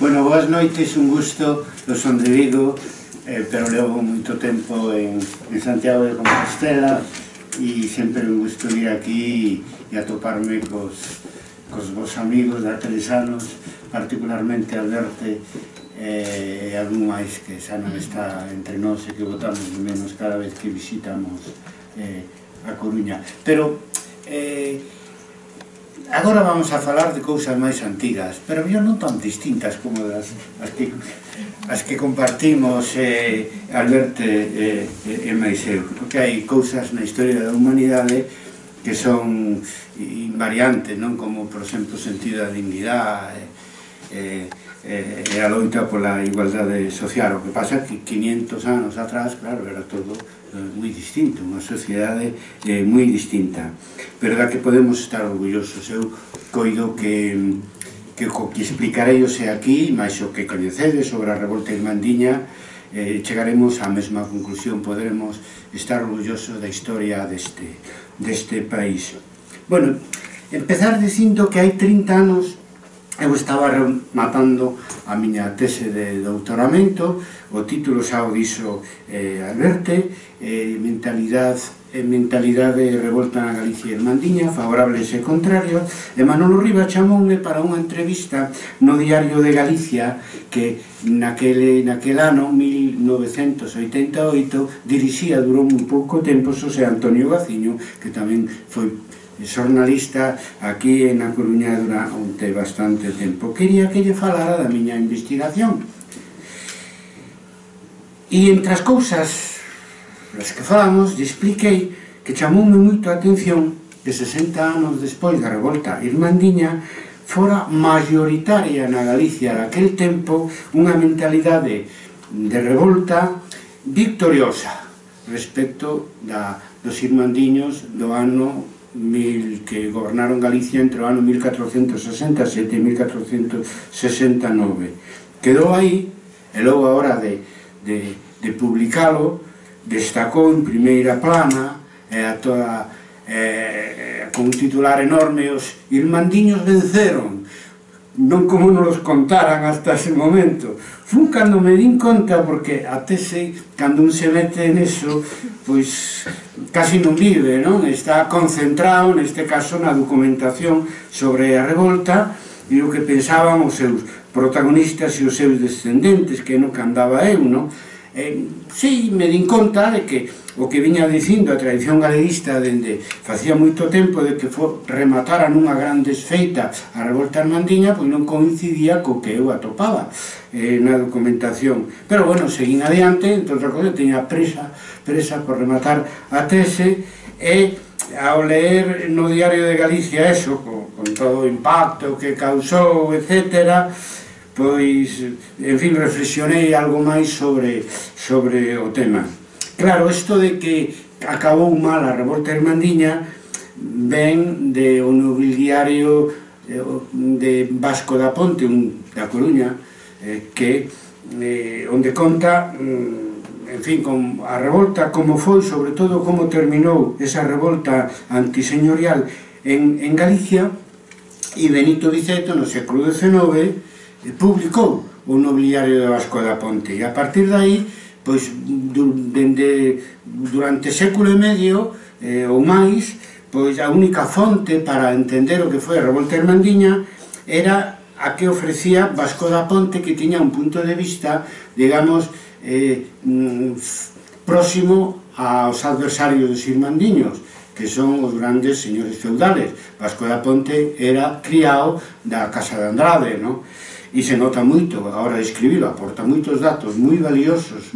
Bueno, boas noites, un gusto, eu son de Vigo, pero levo moito tempo en Santiago de Compostela e sempre un gusto vir aquí e atoparme cos vos amigos de aqueles anos, particularmente Alberte e algún máis que xa non está entre nós e que votamos de menos cada vez que visitamos a Coruña. Pero agora vamos a falar de cousas máis antigas, pero non tan distintas como as que compartimos Alberte e máis eu, porque hai cousas na historia da humanidade que son invariantes, non? Como, por exemplo, o sentido da dignidade e a loita pola igualdade social. O que pasa é que 500 anos atrás, claro, era todo moi distinto, unha sociedade moi distinta, pero da que podemos estar orgullosos. Eu coido que o que explicarei hoxe aquí, máis o que coñecedes sobre a revolta irmandiña, chegaremos á mesma conclusión, poderemos estar orgullosos da historia deste país. Bueno, empezar dicindo que hai 30 anos eu estaba rematando a miña tese de doutoramento, o título xa o dixo Alberte, mentalidade e revolta na Galicia irmandiña, favorables e contrarios, e Manolo Rivas chamoume para unha entrevista no Diario de Galicia que naquele ano, 1988, dirixía durou un pouco tempo Xosé Antonio Gaciño, que tamén foi xornalista aquí na Coruña durante bastante tempo. Quería que lle falara da miña investigación. E entre as cousas das que falamos, lle expliquei que chamoume moito a atención que 60 anos despois da revolta irmandiña fora mayoritaria na Galicia daquel tempo unha mentalidade de revolta victoriosa respecto dos irmandiños do ano que gobernaron Galicia entre o ano 1467 e 1469. Quedou aí, e logo a hora de publicalo, destacou en primeira plana con un titular enorme: os irmandiños venceron, non como nos contaran hasta ese momento. Fun cando me din conta, porque a tese, cando un se mete neso, pois casi non vive, non? Está concentrado, neste caso, na documentación sobre a revolta e o que pensaban os seus protagonistas e os seus descendentes, que no que andaba eu, non? Si, me din conta de que o que viña dicindo a tradición galeguista dende facía moito tempo de que rematara nunha gran desfeita a revolta irmandiña, pois non coincidía co que eu atopaba na documentación. Pero, bueno, seguín adiante, entón outra cosa, teña presa por rematar a tese, e ao ler no Diario de Galicia eso, con todo o impacto que causou, etcétera, pois, en fin, reflexionei algo máis sobre o tema. Claro, isto de que acabou mal a revolta irmandiña ven de un nobiliario de Vasco da Ponte, da Coruña, onde conta, en fin, con a revolta, como foi, sobre todo como terminou esa revolta antiseñorial en Galicia, e Benito Viceto no século XIX publicou o nobiliario de Vasco da Ponte, e a partir de aí, pois, durante século e medio ou máis, pois a única fonte para entender o que foi a revolta irmandiña era a que ofrecía Vasco da Ponte, que tiña un punto de vista, digamos, próximo aos adversarios dos irmandiños, que son os grandes señores feudales. Vasco da Ponte era criado da Casa de Andrade, non? E se nota moito, a hora de escribilo, aporta moitos datos moi valiosos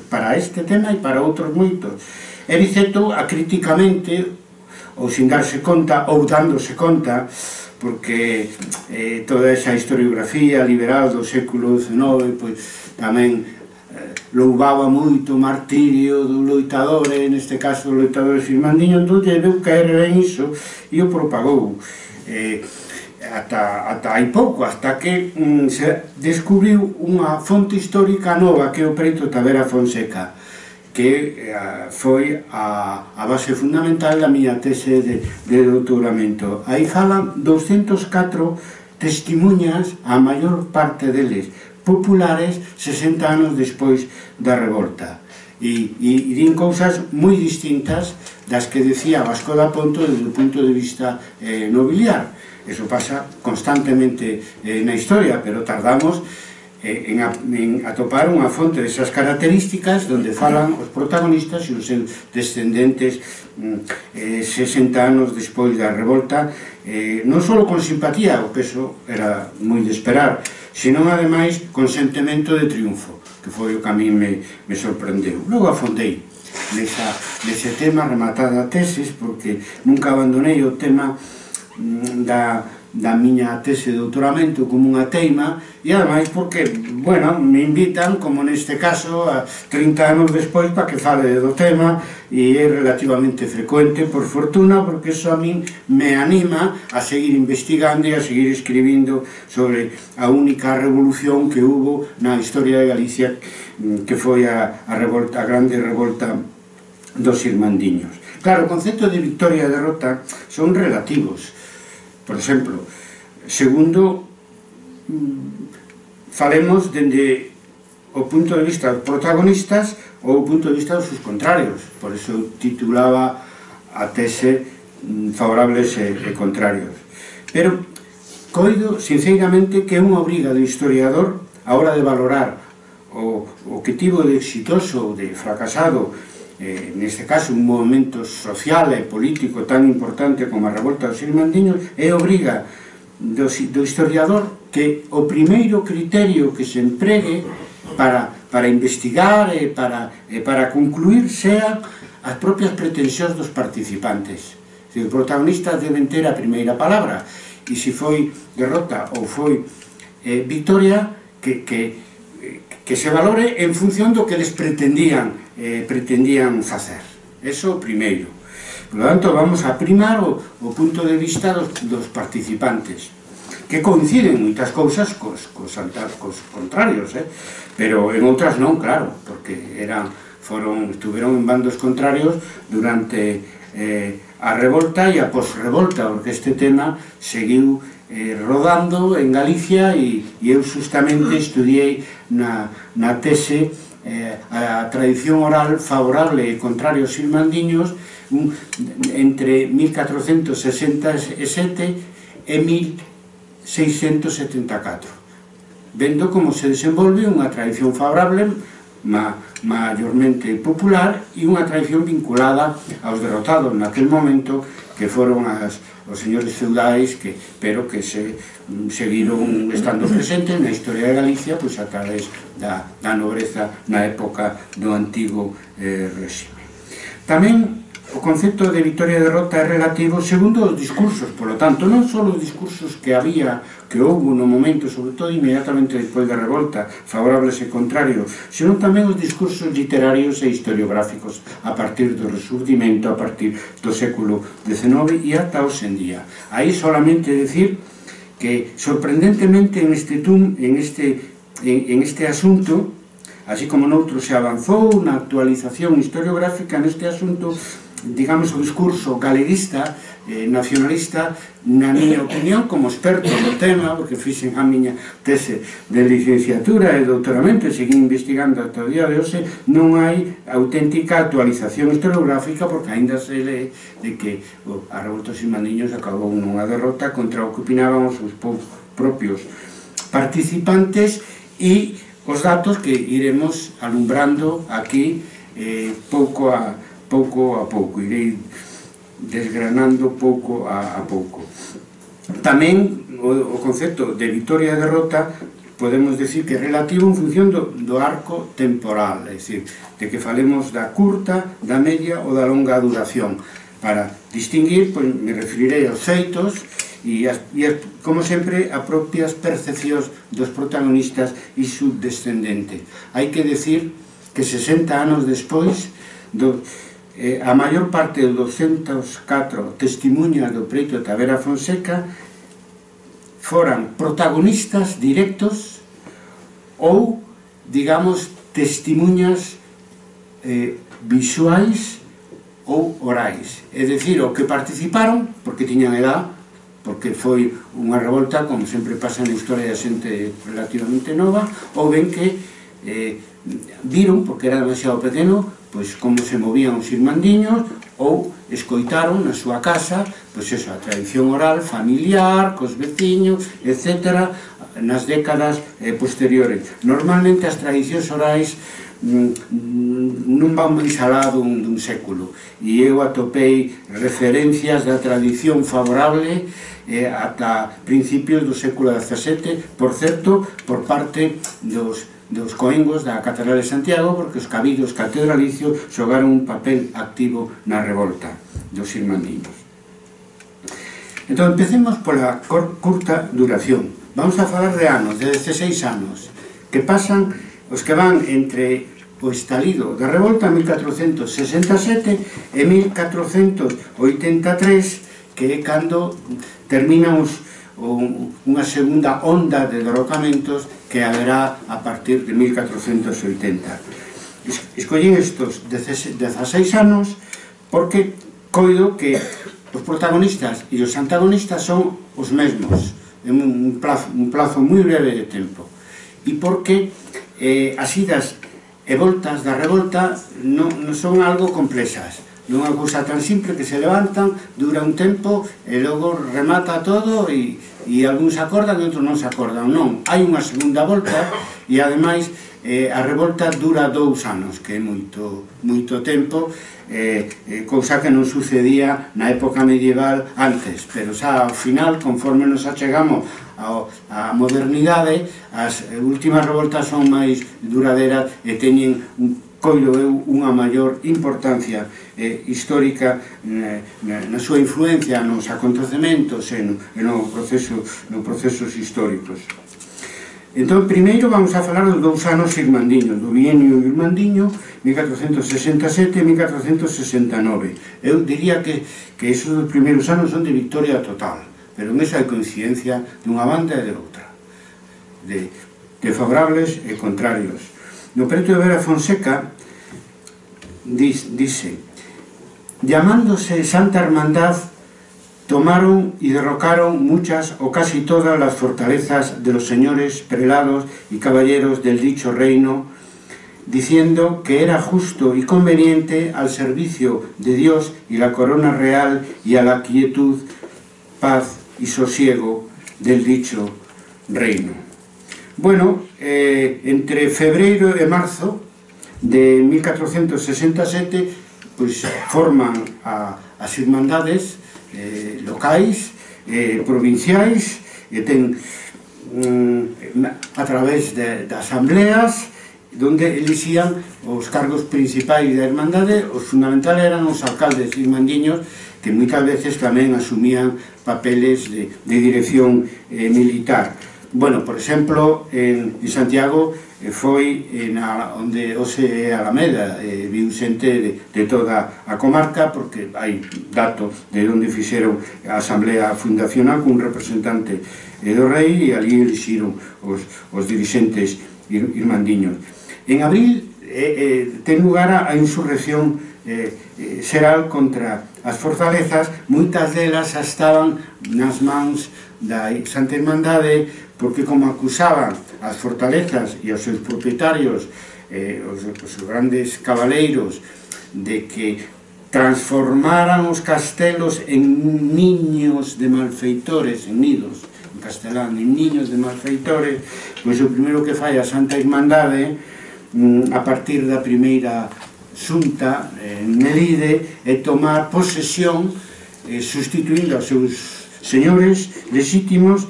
para este tema e para outros moitos. E Viceto, acríticamente, ou sin darse conta, ou dándose conta, porque toda esa historiografía liberal do século XIX, pois tamén louvaba moito o martirio do loitador, neste caso do loitador irmandiño, entón lle veu caer ben iso e o propagou. Ata hai pouco, hasta que se descubriu unha fonte histórica nova, que é o Preito Tavera Fonseca, que foi a base fundamental da miña tese de doutoramento. Aí falan 204 testimuñas, a maior parte deles populares, 60 anos despois da revolta. E din cousas moi distintas das que decía Vasco da Ponto desde o punto de vista nobiliar. Eso pasa constantemente na historia, pero tardamos en atopar unha fonte desas características onde falan os protagonistas e os descendentes 60 anos despois da revolta, non só con simpatía, o peso era moi de esperar, senón ademais con sentimento de triunfo, que foi o que a mí me sorprendeu. Logo afondei nese tema, rematada a tesis, porque nunca abandonei o tema da miña tese de doutoramento como unha teima, e ademais porque, bueno, me invitan, como neste caso, a 30 anos despois, para que fale do tema, e é relativamente frecuente, por fortuna, porque eso a min me anima a seguir investigando e a seguir escribindo sobre a única revolución que hubo na historia de Galicia, que foi a grande revolta dos irmandiños. Claro, o concepto de victoria e derrota son relativos. Por exemplo, segundo, falemos dende o punto de vista dos protagonistas ou o punto de vista dos seus contrarios. Por iso titulaba a tese favorables e contrarios. Pero coido, sinceramente, que é unha obriga do historiador a hora de valorar o que tivo de exitoso ou de fracasado, neste caso un movimento social e político tan importante como a revolta dos irmandiños, é obriga do historiador que o primeiro criterio que se empregue para investigar e para concluir sean as propias pretensións dos participantes. Os protagonistas deben ter a primeira palabra, e se foi derrota ou foi victoria, que se valore en función do que eles pretendían facer. Eso o primeiro. Por lo tanto, vamos a primar o punto de vista dos participantes, que coinciden moitas cousas cos contrarios, pero en outras non, claro, porque estuveron en bandos contrarios durante a revolta e a posrevolta, porque este tema seguiu rodando en Galicia, e eu justamente estudiei na tese a tradición oral favorable e contraria aos irmandiños entre 1467 e 1674, vendo como se desenvolve unha tradición favorable maiormente popular e unha tradición vinculada aos derrotados naquel momento, que foron os señores feudais, pero que seguiron estando presentes na historia de Galicia a través da nobreza na época do antigo réxime. Tamén o concepto de victoria e derrota é relativo segundo os discursos, polo tanto, non só os discursos que houve no momento, sobre todo inmediatamente despois da revolta, favorables e contrarios, senón tamén os discursos literarios e historiográficos a partir do resurdimento, a partir do século XIX e ata hoxe en día. Aí solamente decir que, sorprendentemente, en este asunto, así como noutro se avanzou na actualización historiográfica, neste asunto, digamos, o discurso galeguista, nacionalista, na miña opinión, como experto no tema, porque fixen a miña tese de licenciatura e doutoramento e seguín investigando ata o día de hoxe, non hai auténtica actualización historiográfica, porque aínda se lee de que a revolta dos irmandiños acabou nunha derrota contra o que opinaban os seus propios participantes, e os datos que iremos alumbrando aquí pouco a pouco, irei desgranando pouco a pouco. Tamén o concepto de victoria e derrota podemos decir que é relativo en función do arco temporal, é dicir, de que falemos da curta, da media ou da longa duración. Para distinguir, me referirei aos feitos e, como sempre, a propias percepcións dos protagonistas e subdescendentes. Hai que decir que 60 anos despois, a maior parte dos 204 testimuñas do preito de Tavera Fonseca foran protagonistas directos ou, digamos, testimuñas visuais ou orais, é dicir, o que participaron porque tiñan edad, porque foi unha revolta, como sempre pasa na historia da xente relativamente nova, ou ben que viron, porque era demasiado pequeno, pois como se movían os irmandiños, ou escoitaron na súa casa, pois eso, a tradición oral, familiar, cos veciños, etc., nas décadas posteriores. Normalmente as tradicións orais non van máis alá dun século, e eu atopei referencias da tradición favorable ata principios do século XVII, por certo, por parte dos coengos da Catedral de Santiago, porque os cabildos catedralicios xogaron un papel activo na revolta dos irmandiños. Entón, empecemos pola curta duración. Vamos a falar de anos, de 16 anos, que pasan os que van entre o estalido da revolta en 1467 e 1483, que é cando terminan unha segunda onda de derrocamentos que haberá a partir de 1480. Escollín estos 16 anos porque coido que os protagonistas e os antagonistas son os mesmos en un plazo moi breve de tempo, e porque as idas e voltas da revolta non son algo complexas, non é unha cousa tan simple que se levantan, dura un tempo e logo remata todo e algúns se acordan e outros non se acordan. Non, hai unha segunda volta e ademais a revolta dura 2 anos, que é moito tempo, cousa que non sucedía na época medieval antes, pero xa ao final, conforme nos achegamos á modernidade, as últimas revoltas son máis duraderas e teñen coido eu unha maior importancia histórica na súa influencia nos acontecementos e nos procesos históricos. Entón, primeiro vamos a falar dos 2 anos irmandiños, do bienio irmandiño 1467 e 1469. Eu diría que esos dos primeiros anos son de victoria total, pero en eso hai coincidencia dunha banda e de outra, de favorables e contrarios. No preto de Vera Fonseca dice: llamándose Santa Hermandad, tomaron y derrocaron muchas o casi todas las fortalezas de los señores, prelados y caballeros del dicho reino, diciendo que era justo y conveniente al servicio de Dios y la corona real y a la quietud, paz y sosiego del dicho reino. Bueno, entre febreiro e marzo de 1467 pues forman as irmandades locais, provinciais, e ten a través de asambleas donde elixían os cargos principais da irmandade. Os fundamentales eran os alcaldes irmandiños, que moitas veces tamén asumían papeles de dirección militar. Bueno, por exemplo, en Santiago foi onde hoxe é Alameda, viu xente de toda a comarca, porque hai datos de onde fixeron a asamblea fundacional cun representante do rei, e ali elixiron os dirixentes irmandiños. En abril ten lugar a insurrección xeral contra as fortalezas. Moitas delas estaban nas mans da Santa Irmandade, porque como acusaban as fortalezas e os seus propietarios, os grandes cabaleiros, de que transformaran os castelos en niños de malfeitores, en nidos, en castelán, en niños de malfeitores, pois o primeiro que fai a Santa Irmandade, a partir da primeira xunta en Melide, é tomar posesión, sustituindo aos seus señores legítimos,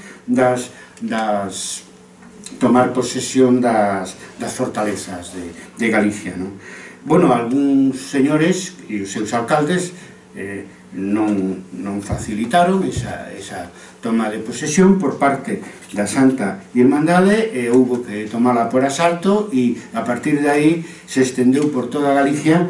tomar posesión das fortalezas de Galicia. Bueno, algúns señores e os seus alcaldes non facilitaron esa toma de posesión por parte da Santa Irmandade, e houbo que tomala por asalto, e a partir de aí se estendeu por toda Galicia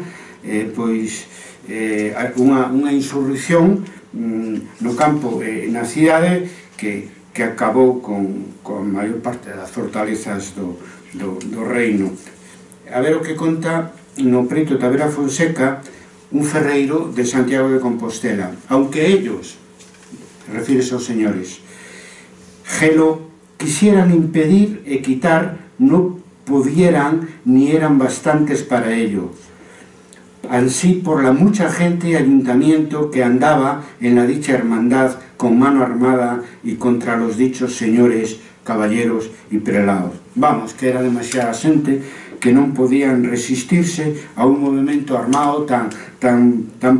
unha insurrección no campo e na cidade que acabou con a maior parte das fortalezas do reino. A ver o que conta no preto de Vera Fonseca un ferreiro de Santiago de Compostela. Aunque ellos refírese aos señores. Gelo quisieran impedir e quitar, no pudieran ni eran bastantes para ello. Ansí por la mucha gente y ayuntamiento que andaba en la dicha hermandad con mano armada y contra los dichos señores, caballeros y prelados. Vamos, que era demasiada xente que non podían resistirse a un movimento armado tan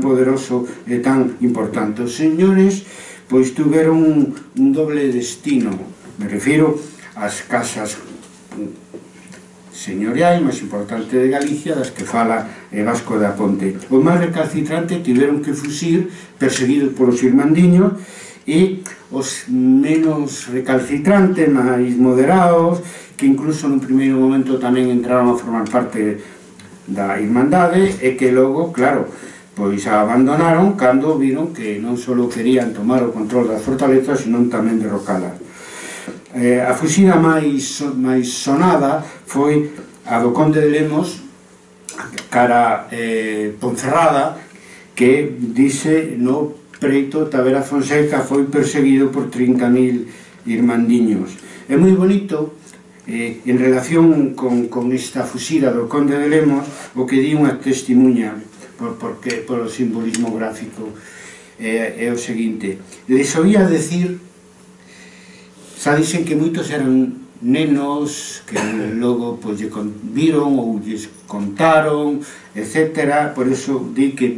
poderoso e tan importante. Os señores pois tuveron un doble destino, me refiro ás casas señoriais máis importante de Galicia, das que fala Vasco da Ponte. Os máis recalcitrantes tiveron que fuxir perseguidos polos irmandiños, e os menos recalcitrantes, máis moderados, que incluso nun primeiro momento tamén entraron a formar parte da Irmandade, e que logo, claro, pois a abandonaron cando viron que non só querían tomar o control das fortalezas, senón tamén derrocalas. A fuxida máis sonada foi a do Conde de Lemos cara Ponferrada, que dice no preito Tavera Fonseca foi perseguido por 30.000 irmandiños. É moi bonito en relación con esta fuxida do Conde de Lemos o que di unha testimuña polo simbolismo gráfico é o seguinte: les oía decir, xa dicen que moitos eran nenos que logo pois lle viron ou lles contaron, etc. Por eso di que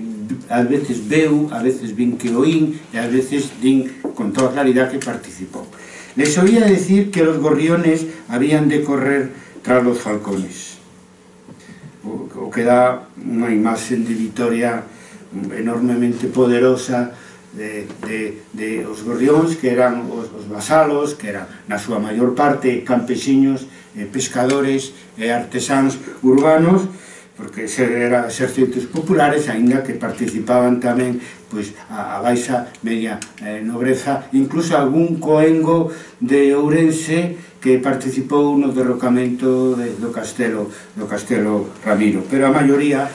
ás veces veu, ás veces vin que oín e ás veces din con toda claridade que participou. Les oía decir que los gorriones habían de correr tras los falcones, o que dá unha imaxe de Vitoria enormemente poderosa de os gorrións, que eran os vasalos, que eran na súa maior parte campesiños, pescadores e artesáns urbanos, porque eran exércitos populares, aínda que participaban tamén pois a baixa media nobreza, incluso algún coengo de Ourense que participou no derrocamento do Castelo Ramiro, pero a maioría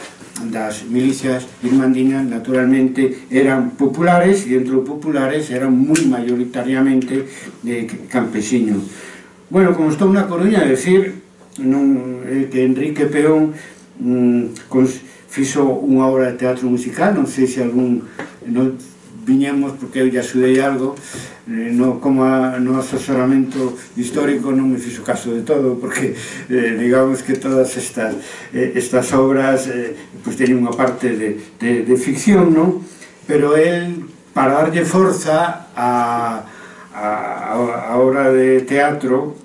das milicias irmandiñas naturalmente eran populares, e entre os populares eran moi maioritariamente campesiños. Bueno, como estou na Coruña, decir que Enrique Peón fixo unha obra de teatro musical, non sei se algún viñemos porque eu lle axudei algo, como no asesoramento histórico non me fixo caso de todo, porque digamos que todas estas obras pois teñen unha parte de ficción, non? Pero el, para darlle forza a obra de teatro,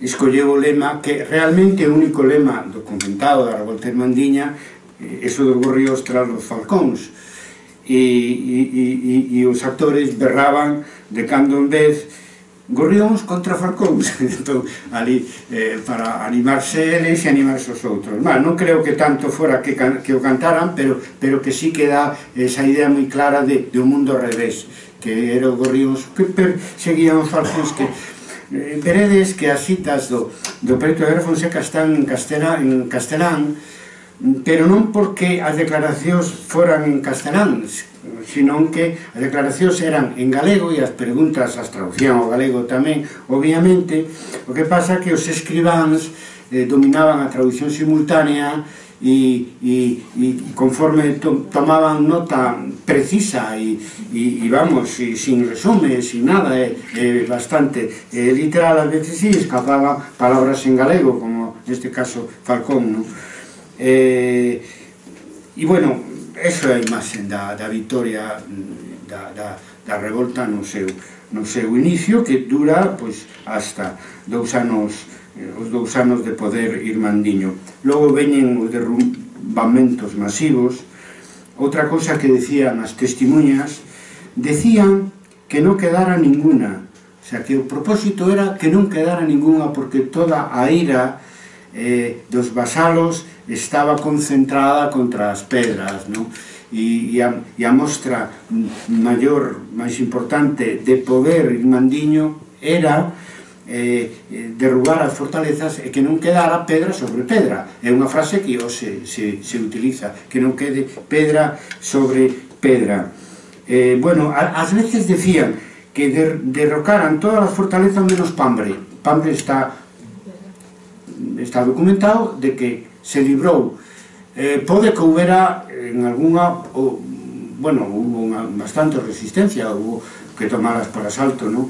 escolleu o lema que realmente é o único lema documentado da revolta irmandiña, eso dos gorrios tras os falcóns, e os actores berraban de cando en vez gorrións contra falcóns. Entón, ali, para animarse eles e animarse os outros. Non creo que tanto fora que o cantaran, pero que sí que dá esa idea moi clara de un mundo ao revés, que eran os gorrións que perseguían os falcóns. Que veredes que as citas do preto de Fonseca están en castelán, pero non porque as declaracións foran en castelán, sino que as declaracións eran en galego e as preguntas as traducían ao galego tamén, obviamente. O que pasa que os escribáns dominaban a traducción simultánea e conforme tomaban nota precisa e vamos, sin resume, sin nada, bastante literal, a veces sí escapaban palabras en galego, como neste caso Falcón, non? E bueno, eso é a imaxe da vitoria da revolta no seu inicio, que dura pois hasta os 2 anos de poder irmandiño. Logo veñen os derrumbamentos masivos. Outra cosa que decían as testimuñas, decían que non quedara ninguna, o sea, que o propósito era que non quedara ninguna, porque toda a ira dos vasalos estaba concentrada contra as pedras, non? E a mostra maior, máis importante de poder irmandiño era derrubar as fortalezas e que non quedara pedra sobre pedra. É unha frase que hoxe se utiliza, que non quede pedra sobre pedra. bueno, ás veces decían que derrocaran todas as fortalezas menos Pambre. Pambre está documentado de que se librou. Pode que houbera en algunha, bueno, hubo bastante resistencia, hubo que tomalas por asalto, non?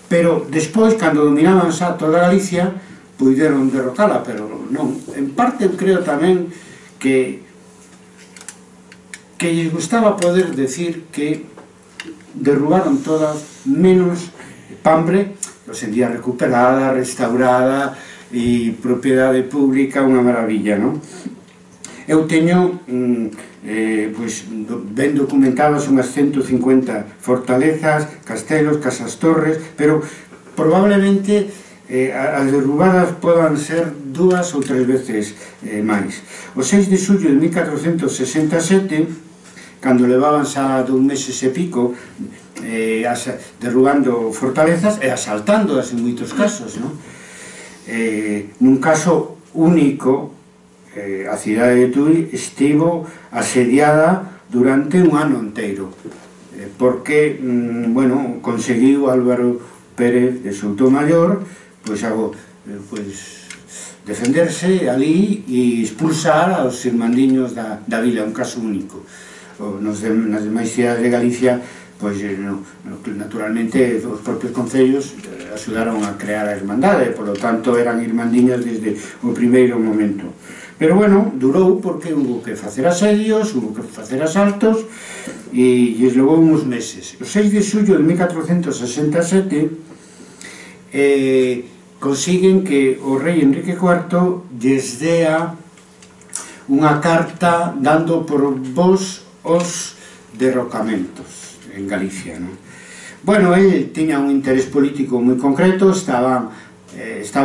Pero despois, cando dominaban xa toda Galicia, puideron derrocala, pero non. En parte creo tamén que lles gustaba poder decir que derrubaron todas menos Pambre, hoxe en día recuperada, restaurada e propiedade pública, unha maravilla, non? Eu teño ben documentadas unhas 150 fortalezas, castelos, casas torres, pero probablemente as derrubadas podan ser 2 ou 3 veces máis. O 6 de xullo de 1467, cando levaban xa 2 meses e pico derrubando fortalezas e asaltándoas en moitos casos, nun caso único, a cidade de Tui estivo asediada durante un ano inteiro, porque, bueno, conseguiu Álvaro Pérez de Soutomaior defenderse ali e expulsar aos irmandiños da vila, un caso único. Nas demais cidades de Galicia, naturalmente, os propios concellos axudaron a crear a irmandade, por lo tanto eran irmandiñas desde o primeiro momento. Pero, bueno, durou porque hubo que facer asedios, hubo que facer asaltos e lles levou uns meses. O 6 de xullo de 1467 consiguen que o rei Enrique IV lles dea unha carta dando por vos os derrocamentos en Galicia, non? Bueno, el tiña un interés político moi concreto, estaba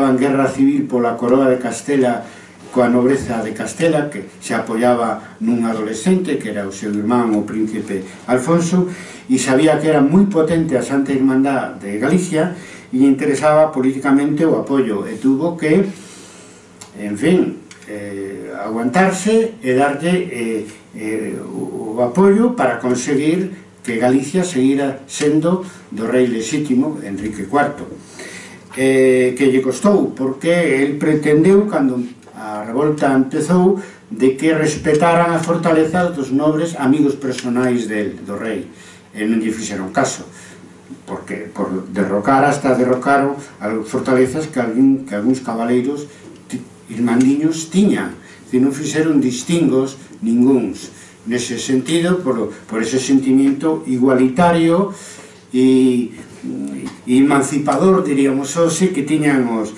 en guerra civil pola coroa de Castela coa nobreza de Castela, que se apoiaba nun adolescente, que era o seu irmán, o príncipe Alfonso, e sabía que era moi potente a Santa Irmandad de Galicia, e interesaba políticamente o apoio, e tuvo que, en fin, aguantarse e darlle o apoio para conseguir que Galicia seguira sendo do rei lexítimo, Enrique IV. Que lle costou, porque el pretendeu, cando a revolta empezou, de que respetaran as fortalezas dos nobres amigos personais do rei, e non lle fixeron caso, porque por derrocar hasta derrocaron as fortalezas que algúns cabaleiros irmandiños tiñan, e non fixeron distingos ningúns. Nese sentido, por ese sentimiento igualitario e emancipador, diríamos hoxe, que tiñan os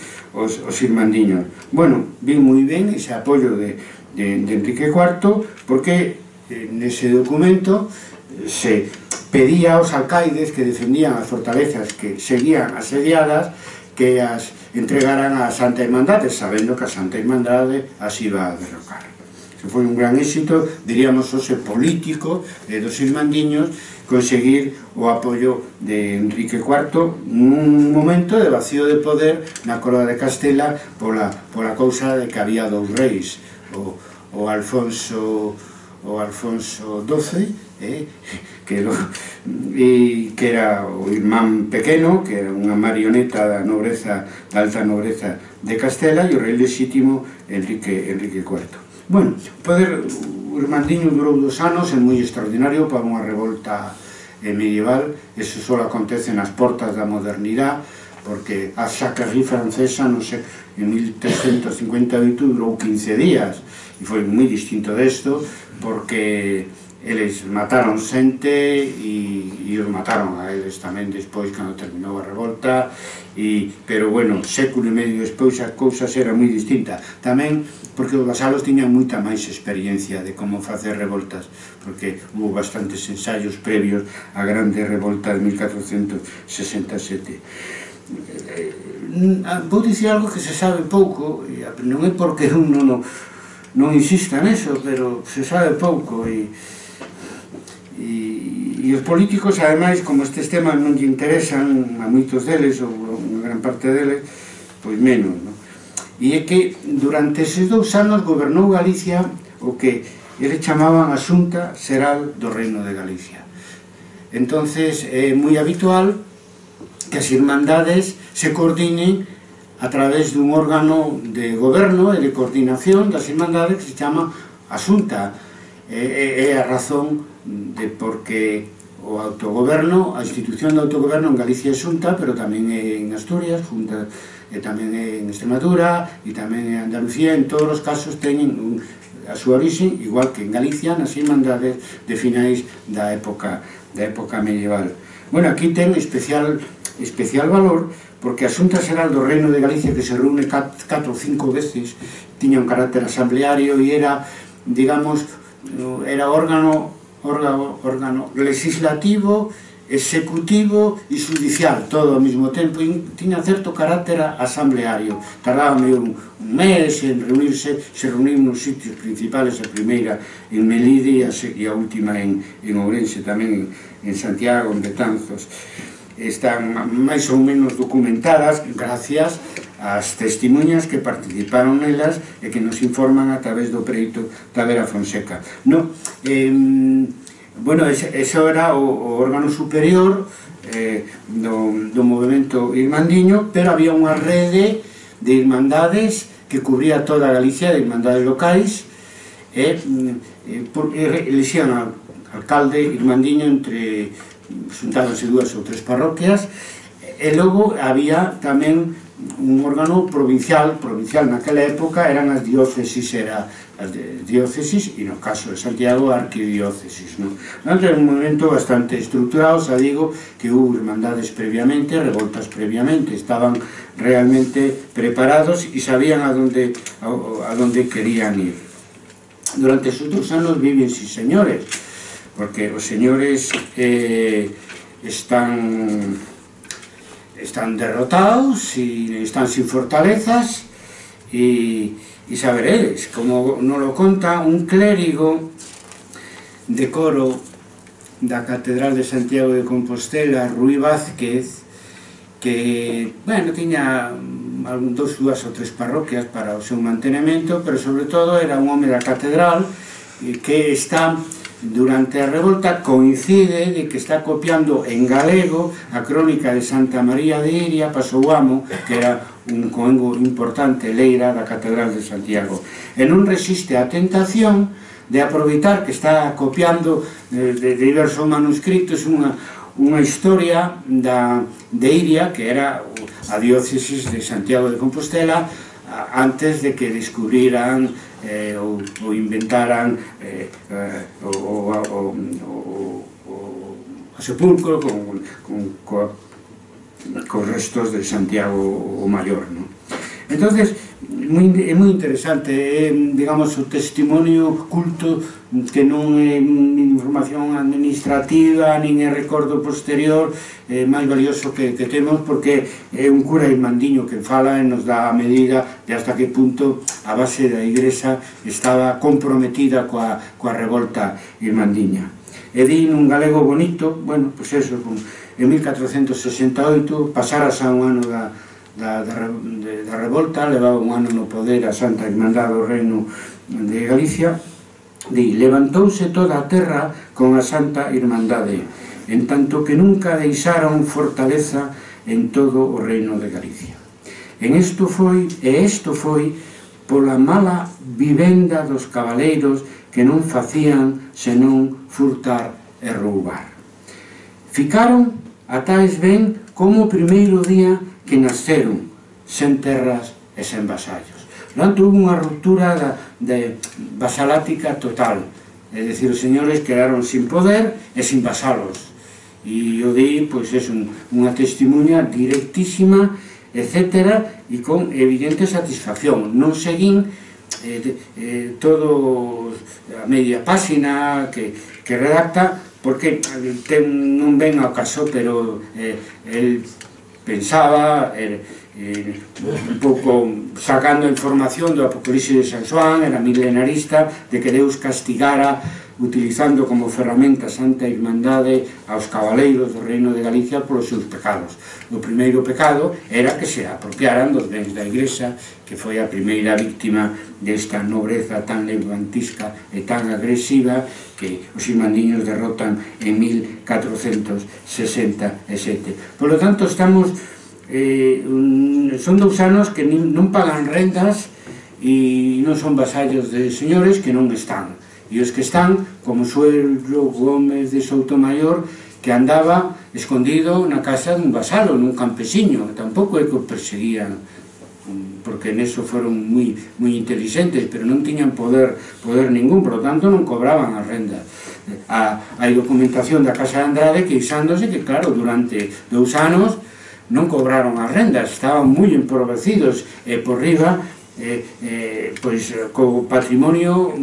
irmandiños. Bueno, vin moi ben ese apoio de Enrique IV, porque nese documento se pedía aos alcaides que defendían as fortalezas que seguían asediadas que as entregaran a Santa Irmandade, sabendo que a Santa Irmandade as iba a derrocar. Foi un gran éxito, diríamos, hoxe político dos irmandiños, conseguir o apoio de Enrique IV nun momento de vacío de poder na coroa de Castela pola cousa de que había 2 reis, o Alfonso XII, que era o irmán pequeno, que era unha marioneta da alta nobreza de Castela, e o rei lexítimo Enrique IV. Bueno, o irmandiño durou 2 anos, é moi extraordinario para unha revolta medieval. Eso só acontece nas portas da modernidade, porque a Jacquerie francesa, non sei, en 1358 durou 15 días, e foi moi distinto desto, porque eles mataron xente e os mataron a eles tamén despois, cando terminou a revolta, pero, bueno, século e medio despois as cousas eran moi distintas. Tamén porque os vasalos tiñan moita máis experiencia de como facer revoltas, porque hubo bastantes ensaios previos á grande revolta de 1467. Vou dicir algo que se sabe pouco, non é porque un non insista neso, pero se sabe pouco, e os políticos, ademais, como estes temas non lle interesan a moitos deles, ou unha gran parte deles, pois menos, non? E é que durante eses 2 anos gobernou Galicia o que eles chamaban a Xunta Xeral do Reino de Galicia. entonces é moi habitual que as irmandades se coordinen a través dun órgano de goberno e de coordinación das irmandades que se chama Asunta. É a razón de porque o autogoberno, a institución de autogoberno en Galicia é Xunta, pero tamén é en Asturias, Xunta, e tamén é en Extremadura, e tamén en Andalucía. En todos os casos teñen a súa orixe, igual que en Galicia, nas irmandades de finais da época medieval. Bueno, aquí ten especial valor, porque a Xunta Xeral do Reino de Galicia, que se reúne 4 ou 5 veces, tiña un carácter asambleario e era, digamos, era órgano legislativo, executivo e judicial, todo ao mesmo tempo, e tiña certo carácter asambleario. Tardaba un mes en reunirse, se reuniu nos sitios principales, a primeira en Melide e a última en Ourense, tamén en Santiago, en Betanzos. Están máis ou menos documentadas gracias ás testemunhas que participaron nelas e que nos informan a través do preito da Vera Fonseca. Bueno, eso era o órgano superior do movimento irmandiño, pero había unha rede de irmandades que cubría toda Galicia, de irmandades locais, e elixían al alcalde irmandiño entre xuntábanse 2 ou 3 parroquias, e logo había tamén un órgano provincial naquela época eran as diócesis, e no caso de Santiago a arquidiócesis. Era un movimento bastante estruturado, xa digo que hubo irmandades previamente, revoltas previamente, estaban realmente preparados e sabían a donde querían ir. Durante esos 2 anos viven, sí señores, porque os señores están derrotados e están sin fortalezas, e saberedes, como nos lo conta un clérigo de coro da Catedral de Santiago de Compostela, Ruy Vázquez, que, bueno, tiña 2 ou 3 parroquias para o seu mantenimento, pero sobre todo era un home da catedral que está durante a revolta, coincide de que está copiando en galego a crónica de Santa María de Iria Pasouamo, que era un coengo importante leira da Catedral de Santiago, e non resiste a tentación de aproveitar que está copiando de diversos manuscritos unha historia de Iria, que era a diócesis de Santiago de Compostela, antes de que descubriran ou inventaran o sepulcro con restos de Santiago o Maior. Entonces, é moi interesante, digamos, o testimonio culto, que non é información administrativa, nin é recordo posterior, máis valioso que temos, porque é un cura irmandiño que fala e nos dá a medida de hasta que punto a base da Igrexa estaba comprometida coa revolta irmandiña. E di nun galego bonito, bueno, pois eso, en 1468, pasarase a un ano da revolta, levaba un ano no poder a Santa Irmandade do Reino de Galicia, levantouse toda a terra con a Santa Irmandade, en tanto que nunca deixaron fortaleza en todo o Reino de Galicia. Isto foi pola mala vivenda dos cabaleiros que non facían senón furtar e roubar. Ficaron a tais ben como o primeiro día que nasceron, sen terras e sen vasallos. Hubo unha ruptura vasalática total, é dicir, os señores quedaron sin poder e sin vasalos, e o di, pois, é unha testimonha directísima, etc., e con evidente satisfacción. Non seguín todo a media páxina que redacta, porque non ven ao caso, pero el pensaba un pouco sacando información do Apocalipse de San Xoán, era milenarista, de que Deus castigara utilizando como ferramenta Santa Irmandade aos cabaleiros do Reino de Galicia polos seus pecados. O primeiro pecado era que se apropiaran dos bens da Igrexa, que foi a primeira víctima desta nobreza tan levantisca e tan agresiva que os irmandiños derrotan en 1467. Por lo tanto, estamos son 2 anos que non pagan rendas e non son vasallos de señores que non están, e os que están, como Suelo Gómez de Soutomayor, que andaba escondido na casa dun vasalo, nun campesiño, tampouco é que o perseguían, porque neso foron moi inteligentes, pero non tiñan poder ningún, por lo tanto non cobraban as rendas. Hai documentación da Casa de Andrade queixándose que, claro, durante 2 anos non cobraron as rendas, estaban moi empobrecidos, e por riba, pois, co patrimonio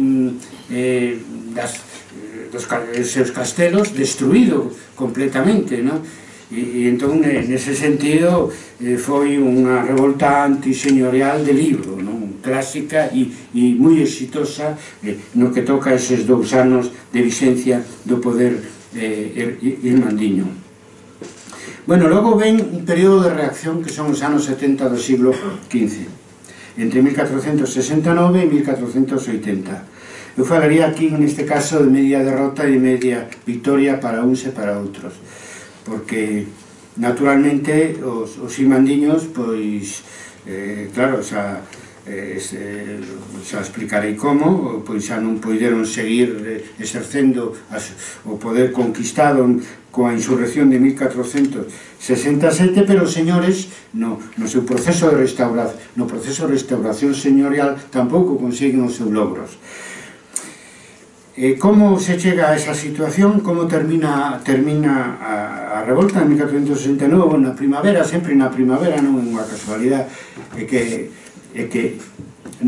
dos seus castelos destruído completamente, non? E entón, nese sentido, foi unha revolta antiseñorial de libro, non? Clásica e moi exitosa no que toca eses 2 anos de vixencia do poder irmandiño. Bueno, logo ven un período de reacción que son os anos 70 do siglo XV, entre 1469 e 1480. Eu falaría aquí, neste caso, de media derrota e media victoria para uns e para outros, porque, naturalmente, os irmandiños, pois, claro, xa explicarei como, pois xa non poideron seguir exercendo o poder conquistado coa insurrección de 1467, pero os señores no seu proceso de restauración señorial tampouco consiguen os seus logros. Como se chega a esa situación? Como termina a revolta en 1469? Na primavera, sempre na primavera, non é unha casualidade, é que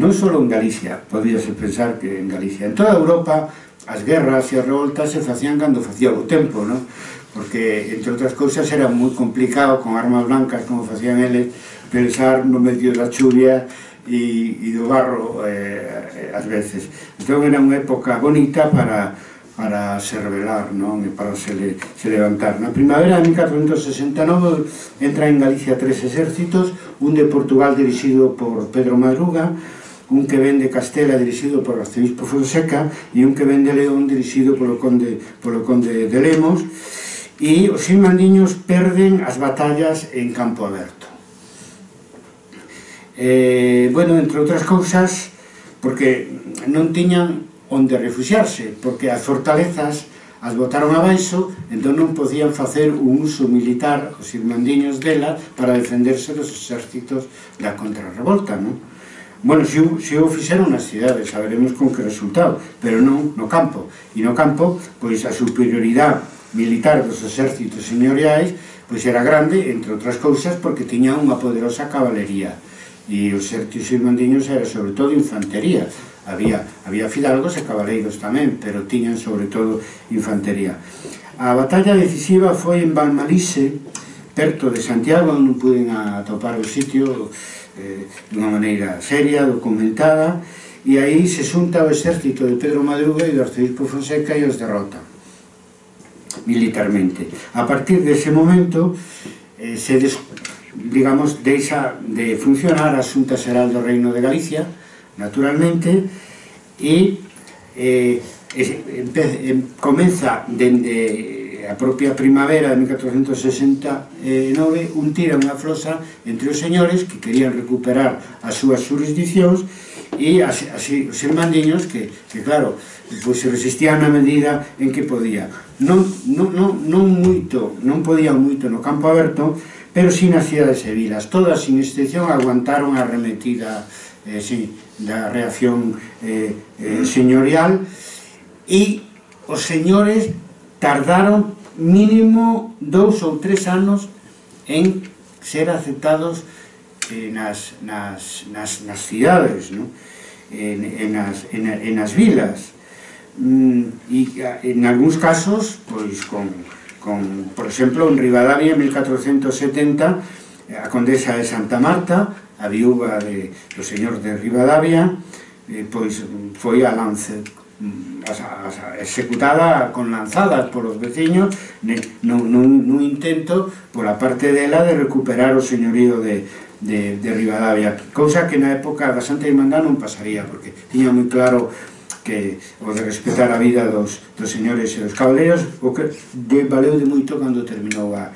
non só en Galicia, podíase pensar que en Galicia, en toda Europa as guerras e as revoltas se facían cando facía o tempo, non? Porque, entre outras cousas, era moi complicado con armas blancas, como facían eles, pensar no medio da chuvia e do barro ás veces. Entón era unha época bonita para se rebelar, non? E para se levantar. Na primavera de 1469 entra en Galicia 3 exércitos, un de Portugal dirixido por Pedro Madruga, un que ven de Castela dirixido por Arcebispo Fonseca e un que ven de León dirixido polo conde de Lemos, e os irmandiños perden as batallas en campo aberto. Bueno, entre outras cousas, porque non tiñan onde refuxiarse, porque as fortalezas as botaron abaixo, entón non podían facer un uso militar os irmandiños delas para defenderse dos exércitos da contrarrevolta, non? Bueno, se o fixeron nas cidades, saberemos con que resultado, pero non no campo. E no campo, pois a superioridade militar dos exércitos señoriais pois era grande, entre outras cousas, porque tiña unha poderosa cabalería, e os exércitos irmandiños era sobre todo infantería. Había fidalgos e cabaleiros tamén, pero tiñan sobre todo infantería. A batalla decisiva foi en Valmalise, perto de Santiago, onde non puden atopar o sitio dunha maneira seria, documentada, e aí se xunta o exército de Pedro Madruga e do Arcebispo Fonseca e os derrota militarmente. A partir dese momento digamos, deixa de funcionar a Xunta Xeral do Reino de Galicia, naturalmente, e comeza dende a propia primavera de 1469 un tira unha flosa entre os señores que querían recuperar as súas jurisdiccións e así os irmandiños que claro, pois se resistían na medida en que podían. Non podían moito no campo aberto, pero si nas cidades e vilas. Todas, sin excepción, aguantaron a arremetida da reacción señorial, e os señores tardaron mínimo 2 ou 3 anos en ser aceptados nas cidades, en as vilas, e en algúns casos, pois, por exemplo, en Ribadavia, en 1470, a condesa de Santa Marta, a viúva do señor de Ribadavia, pois foi a Lance executada con lanzadas polos veciños nun intento pola parte dela de recuperar o señorío de Ribadavia, cousa que na época da Santa Irmandad non pasaría, porque tiña moi claro que o de respetar a vida dos señores e dos cabaleiros, o que valeu de moito cando terminou a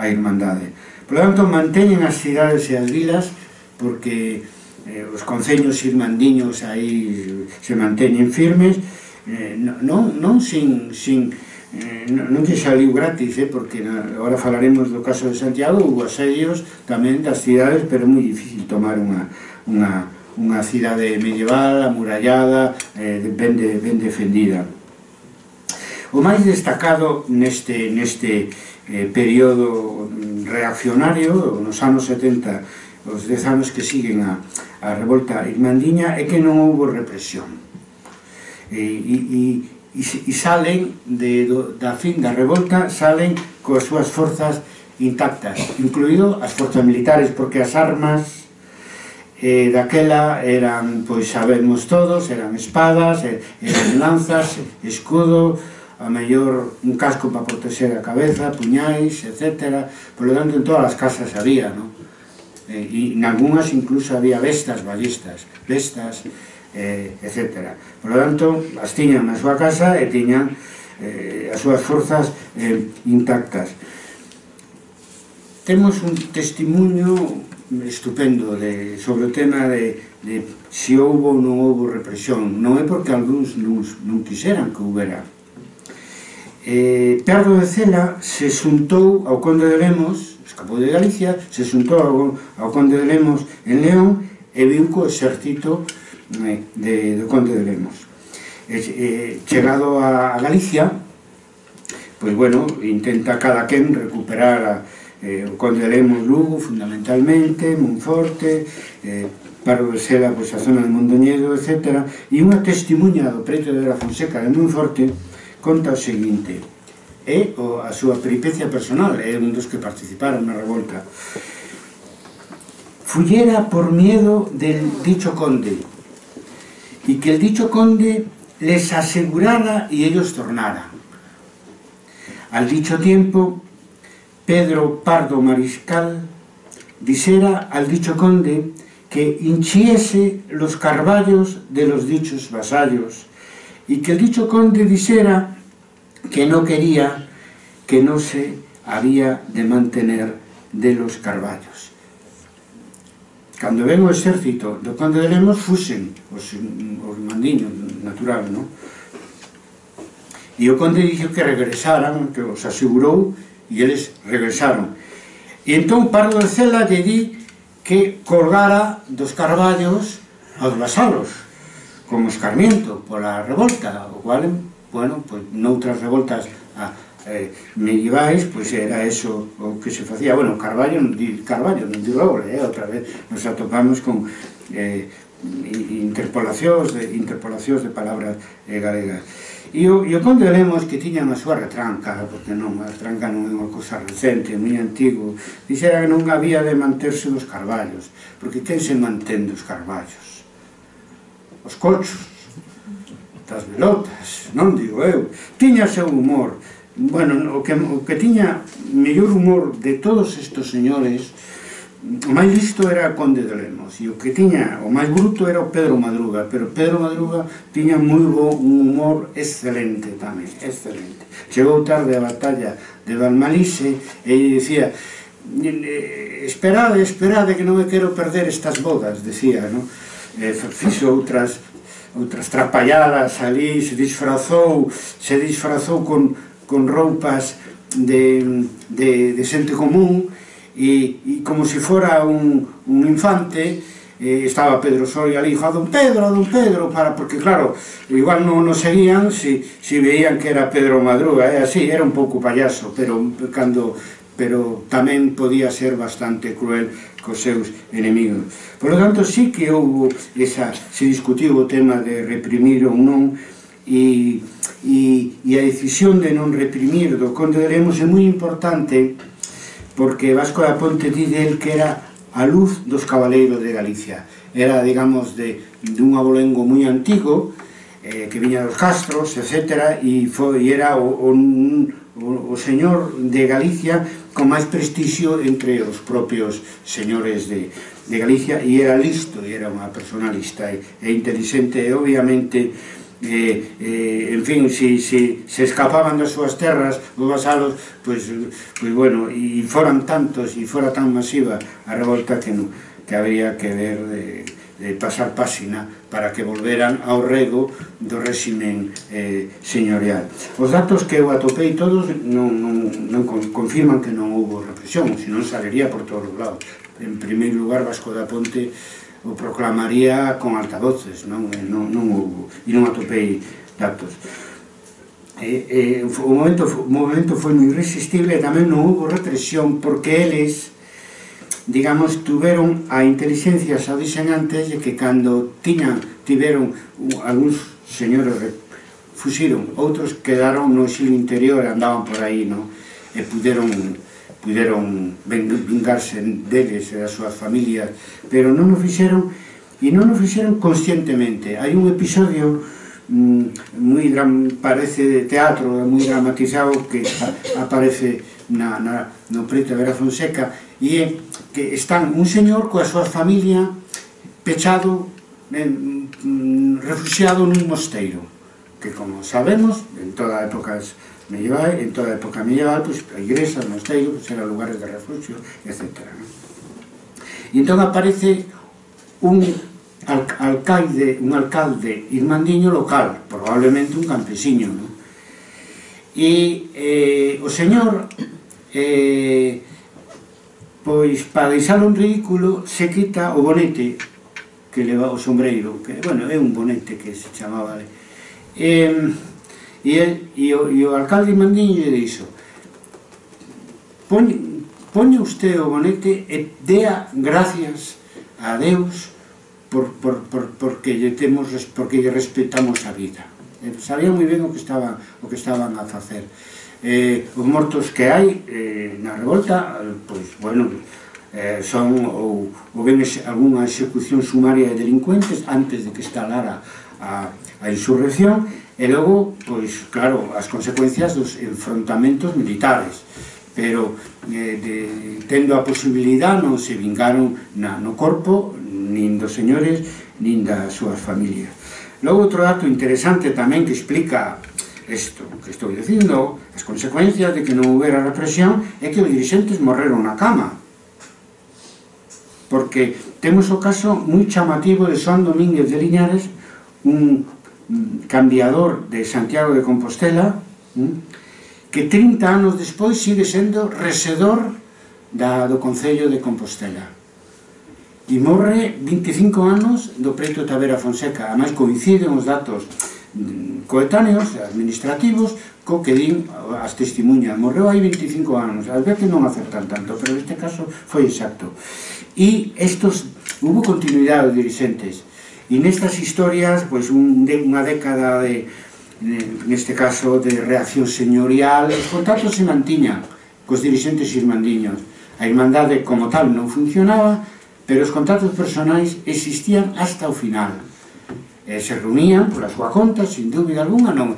Irmandade. Por lo tanto, manteñen as cidades e as vilas, porque os concellos irmandiños aí se manteñen firmes, non que saliu gratis, porque agora falaremos do caso de Santiago, houve asedios tamén das cidades, pero é moi difícil tomar unha cidade medieval, amurallada, ben defendida. O máis destacado neste período reaccionario, nos anos 70, os 10 anos que siguen a revolta irmandiña, é que non houve represión. E salen da fin da revolta, salen coas súas forzas intactas, incluído as forzas militares, porque as armas daquela eran, pois sabemos todos, eran espadas, eran lanzas, escudo, a mellor un casco para proteger a cabeza, puñais, etc. Por lo tanto, en todas as casas había, non? E en algunhas incluso había bestas, ballistas, etc. Por lo tanto, as tiñan na súa casa e tiñan as súas forzas intactas. Temos un testimonio estupendo sobre o tema de se houve ou non houve represión. Non é porque algúns non quixeran que houbera. Pardo de Cela se xuntou ao conde de Lemos, escapou de Galicia, se xuntou ao conde de Lemos en León e viu co exército do conde de Lemos. Chegado a Galicia, pois bueno, intenta cada quen recuperar o conde de Lemos Lugo, fundamentalmente, Monforte, Pardo de Cela, pois a zona de Mondoñedo, etc. E unha testimuña do preto de la Fonseca de Monforte conta o seguinte, é a súa peripecia personal, é un dos que participaron na revolta. Fullera por miedo del dicho conde, y que el dicho conde les asegurara y ellos tornaran. Al dicho tiempo, Pedro Pardo Mariscal disera al dicho conde que hinchiese los carballos de los dichos vasallos, y que el dicho conde disera que no quería, que no se había de mantener de los carballos. Cando ven o exército do conde de Lemos, fuxen os mandiños, natural, non? E o conde dixo que regresaran, que os asegurou, e eles regresaron. E entón Pardo de Cela lle di que colgara dos carballos aos vasalos, como escarmiento pola revolta, o cual, bueno, pois noutras revoltas medievais, pois era eso o que se facía. Bueno, Carballo non di roble, outra vez nos atopamos con interpolacións de palabras galegas. E o conde de Lemos, que tiñan a súa retranca, porque non, a retranca non é unha cousa recente, moi antigo, dixera que non había de manterse dos carballos, porque quen se mantén dos carballos? Os cochos, das velotas, non digo eu. Tiña seu humor. Bueno, o que tiña mellor humor de todos estes señores, o máis listo era o conde de Lemos, e o que tiña o máis bruto era o Pedro Madruga, pero Pedro Madruga tiña un humor excelente tamén, excelente. Chegou tarde a batalla de Valmalise e dicía, esperade, que non me quero perder estas bodas, decía, non? Fixo outras trapalladas ali, se disfrazou con roupas de xente común, e como se fora un infante, estaba Pedro Soria ali, a don Pedro, porque claro, igual non nos seguían se veían que era Pedro Madruga, así, era un pouco payaso, pero tamén podía ser bastante cruel cos seus enemigos. Por lo tanto, sí que se discutiu o tema de reprimir ou non, e a decisión de non reprimir do conde de Lemos é moi importante, porque Vasco da Ponte di del que era a luz dos cabaleiros de Galicia. Era, digamos, dun abolengo moi antigo, que viña dos Castros, etc. E era o señor de Galicia con máis prestixio entre os propios señores de Galicia, e era listo, e era unha persona lista e inteligente, e obviamente en fin, se escapaban das súas terras os vasalos, pois bueno, e foran tantos e fora tan masiva a revolta que habría que ver de pasar páxina para que volveran ao rego do réximen señorial. Os datos que eu atopei todos non confirman que non houve represión, senón salería por todos os lados. En primeiro lugar, Vasco da Ponte o proclamaría con altavoces, non houve, e non atopei datos. O movimento foi moi irresistible e tamén non houve represión porque eles, digamos, tuveron a inteligencia, xa dixen antes, de que cando tiveron algúns señores fuxiron, outros quedaron no exilio interior, andaban por aí, e puderon vingarse deles e das súas familias, pero non o fixeron, e non o fixeron conscientemente. Hai un episodio parece de teatro, moi dramatizado, que aparece no Preto de Vera Fonseca, e é que están un señor coa súa familia pechado, refugiado nun mosteiro, que, como sabemos, en toda a época medieval, pues, a igrexa, o mosteiro, pues, eran lugares de refugio, etc. E entón aparece un alcalde irmandiño local, probablemente un campesiño, e o señor, pois, para deixalo en ridículo, se quita o bonete que leva o sombreiro, que, bueno, é un bonete que se chamaba, e o alcalde irmandiño lle dixo: poña usted o bonete e dea gracias a Deus porque lle respetamos a vida. Sabía moi ben o que estaban a facer. Os mortos que hai na revolta, pois, bueno, son ou ben algunha execución sumaria de delincuentes antes de que estalara a insurrección, e logo, pois, claro, as consecuencias dos enfrontamentos militares, pero tendo a posibilidade non se vingaron no corpo nin dos señores nin das súas familias. Logo, outro dato interesante tamén que explica isto que estou dicindo, as consecuencias de que non houbera represión, é que os dirixentes morreron na cama, porque temos o caso moi chamativo de Xoán Domínguez de Liñares, un cambiador de Santiago de Compostela, que 30 anos despois sigue sendo resedor do Concello de Compostela, e morre 25 anos do Preto de Vera Fonseca. Ademais, coinciden os datos coetáneos, administrativos, co que din as testemunhas. Morreu hai 25 anos, ás veces non acertan tanto, pero neste caso foi exacto. E hubo continuidade de dirixentes, e nestas historias, pois, unha década neste caso, de reacción señorial, os contactos se mantiñan cos dirixentes irmandiños. A irmandade como tal non funcionaba, pero os contactos personais existían hasta o final. Se reunían pola súa conta, sin dúbida alguna. No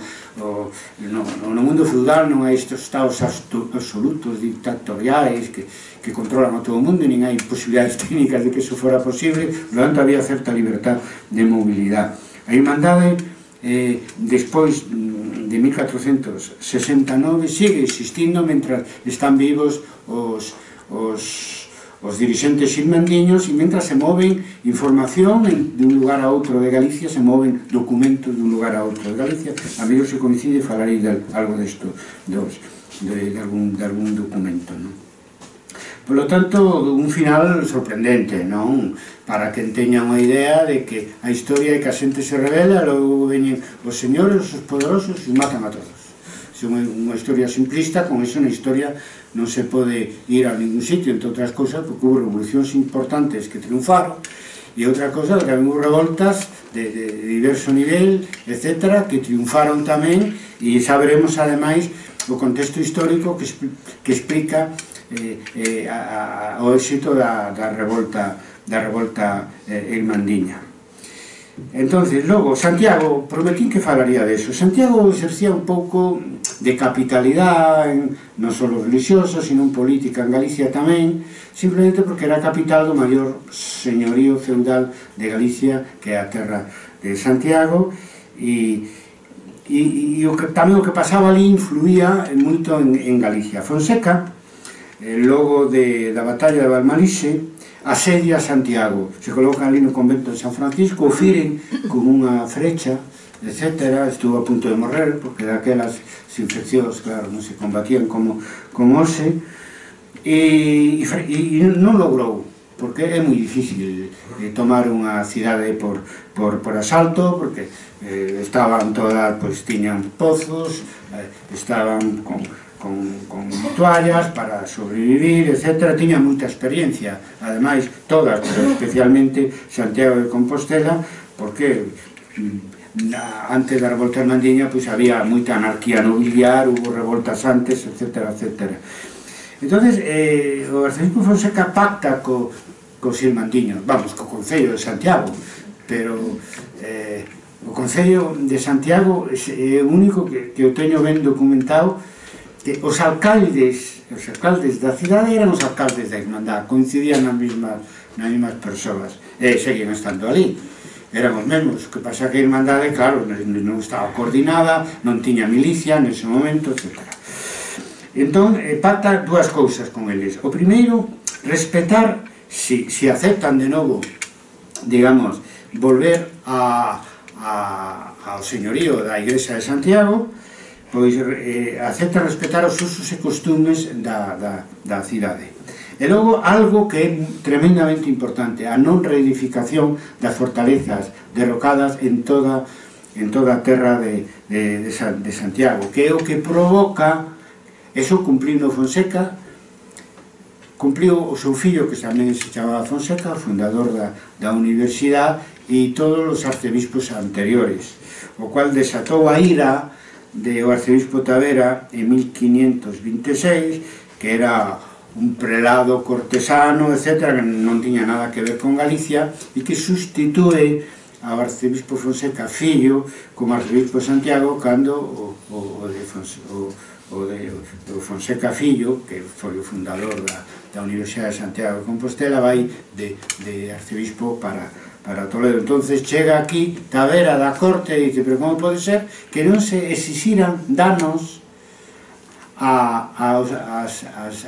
mundo feudal non hai estes estados absolutos, dictatoriais, que controlan a todo o mundo, nin hai posibilidades técnicas de que iso fora posible, por lo tanto había certa libertad de mobilidade. A irmandade, despois de 1469, sigue existindo mentras están vivos os dirixentes irmandiños, e mentras se moven información de un lugar a outro de Galicia, se moven documentos de un lugar a outro de Galicia. A mellor se coincide, falarei de algo desto, de algún documento, non? Por lo tanto, un final sorprendente, non? Para que teñan unha idea de que a historia é que a xente se rebela, logo veñen os señores, os poderosos, e matan a todos. É unha historia simplista, con iso na historia non se pode ir a ningún sitio, entre outras cousas, porque houve revolucións importantes que triunfaron, e outra cosa, que houve revoltas de diverso nivel, etc., que triunfaron tamén, e saberemos, ademais, o contexto histórico que explica o éxito da revolta irmandiña. Entonces, logo, Santiago, prometín que falaría deso. Santiago exercía un pouco de capitalidade, non só religiosa, sino política en Galicia tamén, simplemente porque era a capital do maior señorío feudal de Galicia, que é a terra de Santiago, e tamén o que pasaba ali influía moito en Galicia. Fonseca, logo da batalla de Valmalixe, asedia Santiago, se colocan ali no convento de San Francisco, o firen con unha frecha, etc. Estuvo a punto de morrer, porque daquelas infeccións, claro, non se combatían como hoxe, e non logrou, porque é moi difícil tomar unha cidade por asalto, porque estaban todas, pois tiñan pozos, estaban con toallas para sobrevivir, etc. Tiña moita experiencia, ademais todas, pero especialmente Santiago de Compostela, porque antes da revolta irmandiña pois había moita anarquía nobiliar, hubo revoltas antes, etc. Entonces, o arcebispo Fonseca pacta cos irmandiños, vamos, co Concello de Santiago, pero o Concello de Santiago é o único que eu teño ben documentado, que os alcaldes da cidade eran os alcaldes da Irmandad, coincidían nas mesmas persoas, e seguían estando ali, eran os mesmos. O que pasa que a Irmandade, claro, non estaba coordinada, non tiña milicia nese momento, etc. Entón, pacta dúas cousas con eles. O primeiro, respetar, se aceptan de novo, digamos, volver ao señorío da Igrexa de Santiago, pois acepta respetar os usos e costumes da cidade. E logo, algo que é tremendamente importante, a non reedificación das fortalezas derrocadas en toda a terra de Santiago, que é o que provoca, eso cumpliu Fonseca, cumpliu o seu fillo, que tamén se chamaba Fonseca, fundador da universidade, e todos os arcebispos anteriores, o cual desatou a ira do arcebispo Tavera en 1526, que era un prelado cortesano, etc., que non tiña nada que ver con Galicia, e que sustitúe ao arcebispo Fonseca fillo como arcebispo de Santiago, cando o Fonseca fillo, que foi o fundador da Universidade de Santiago de Compostela, vai de arcebispo para Toledo. Entonces chega aquí Tavera da corte e dice, pero como pode ser que non se exixiran danos a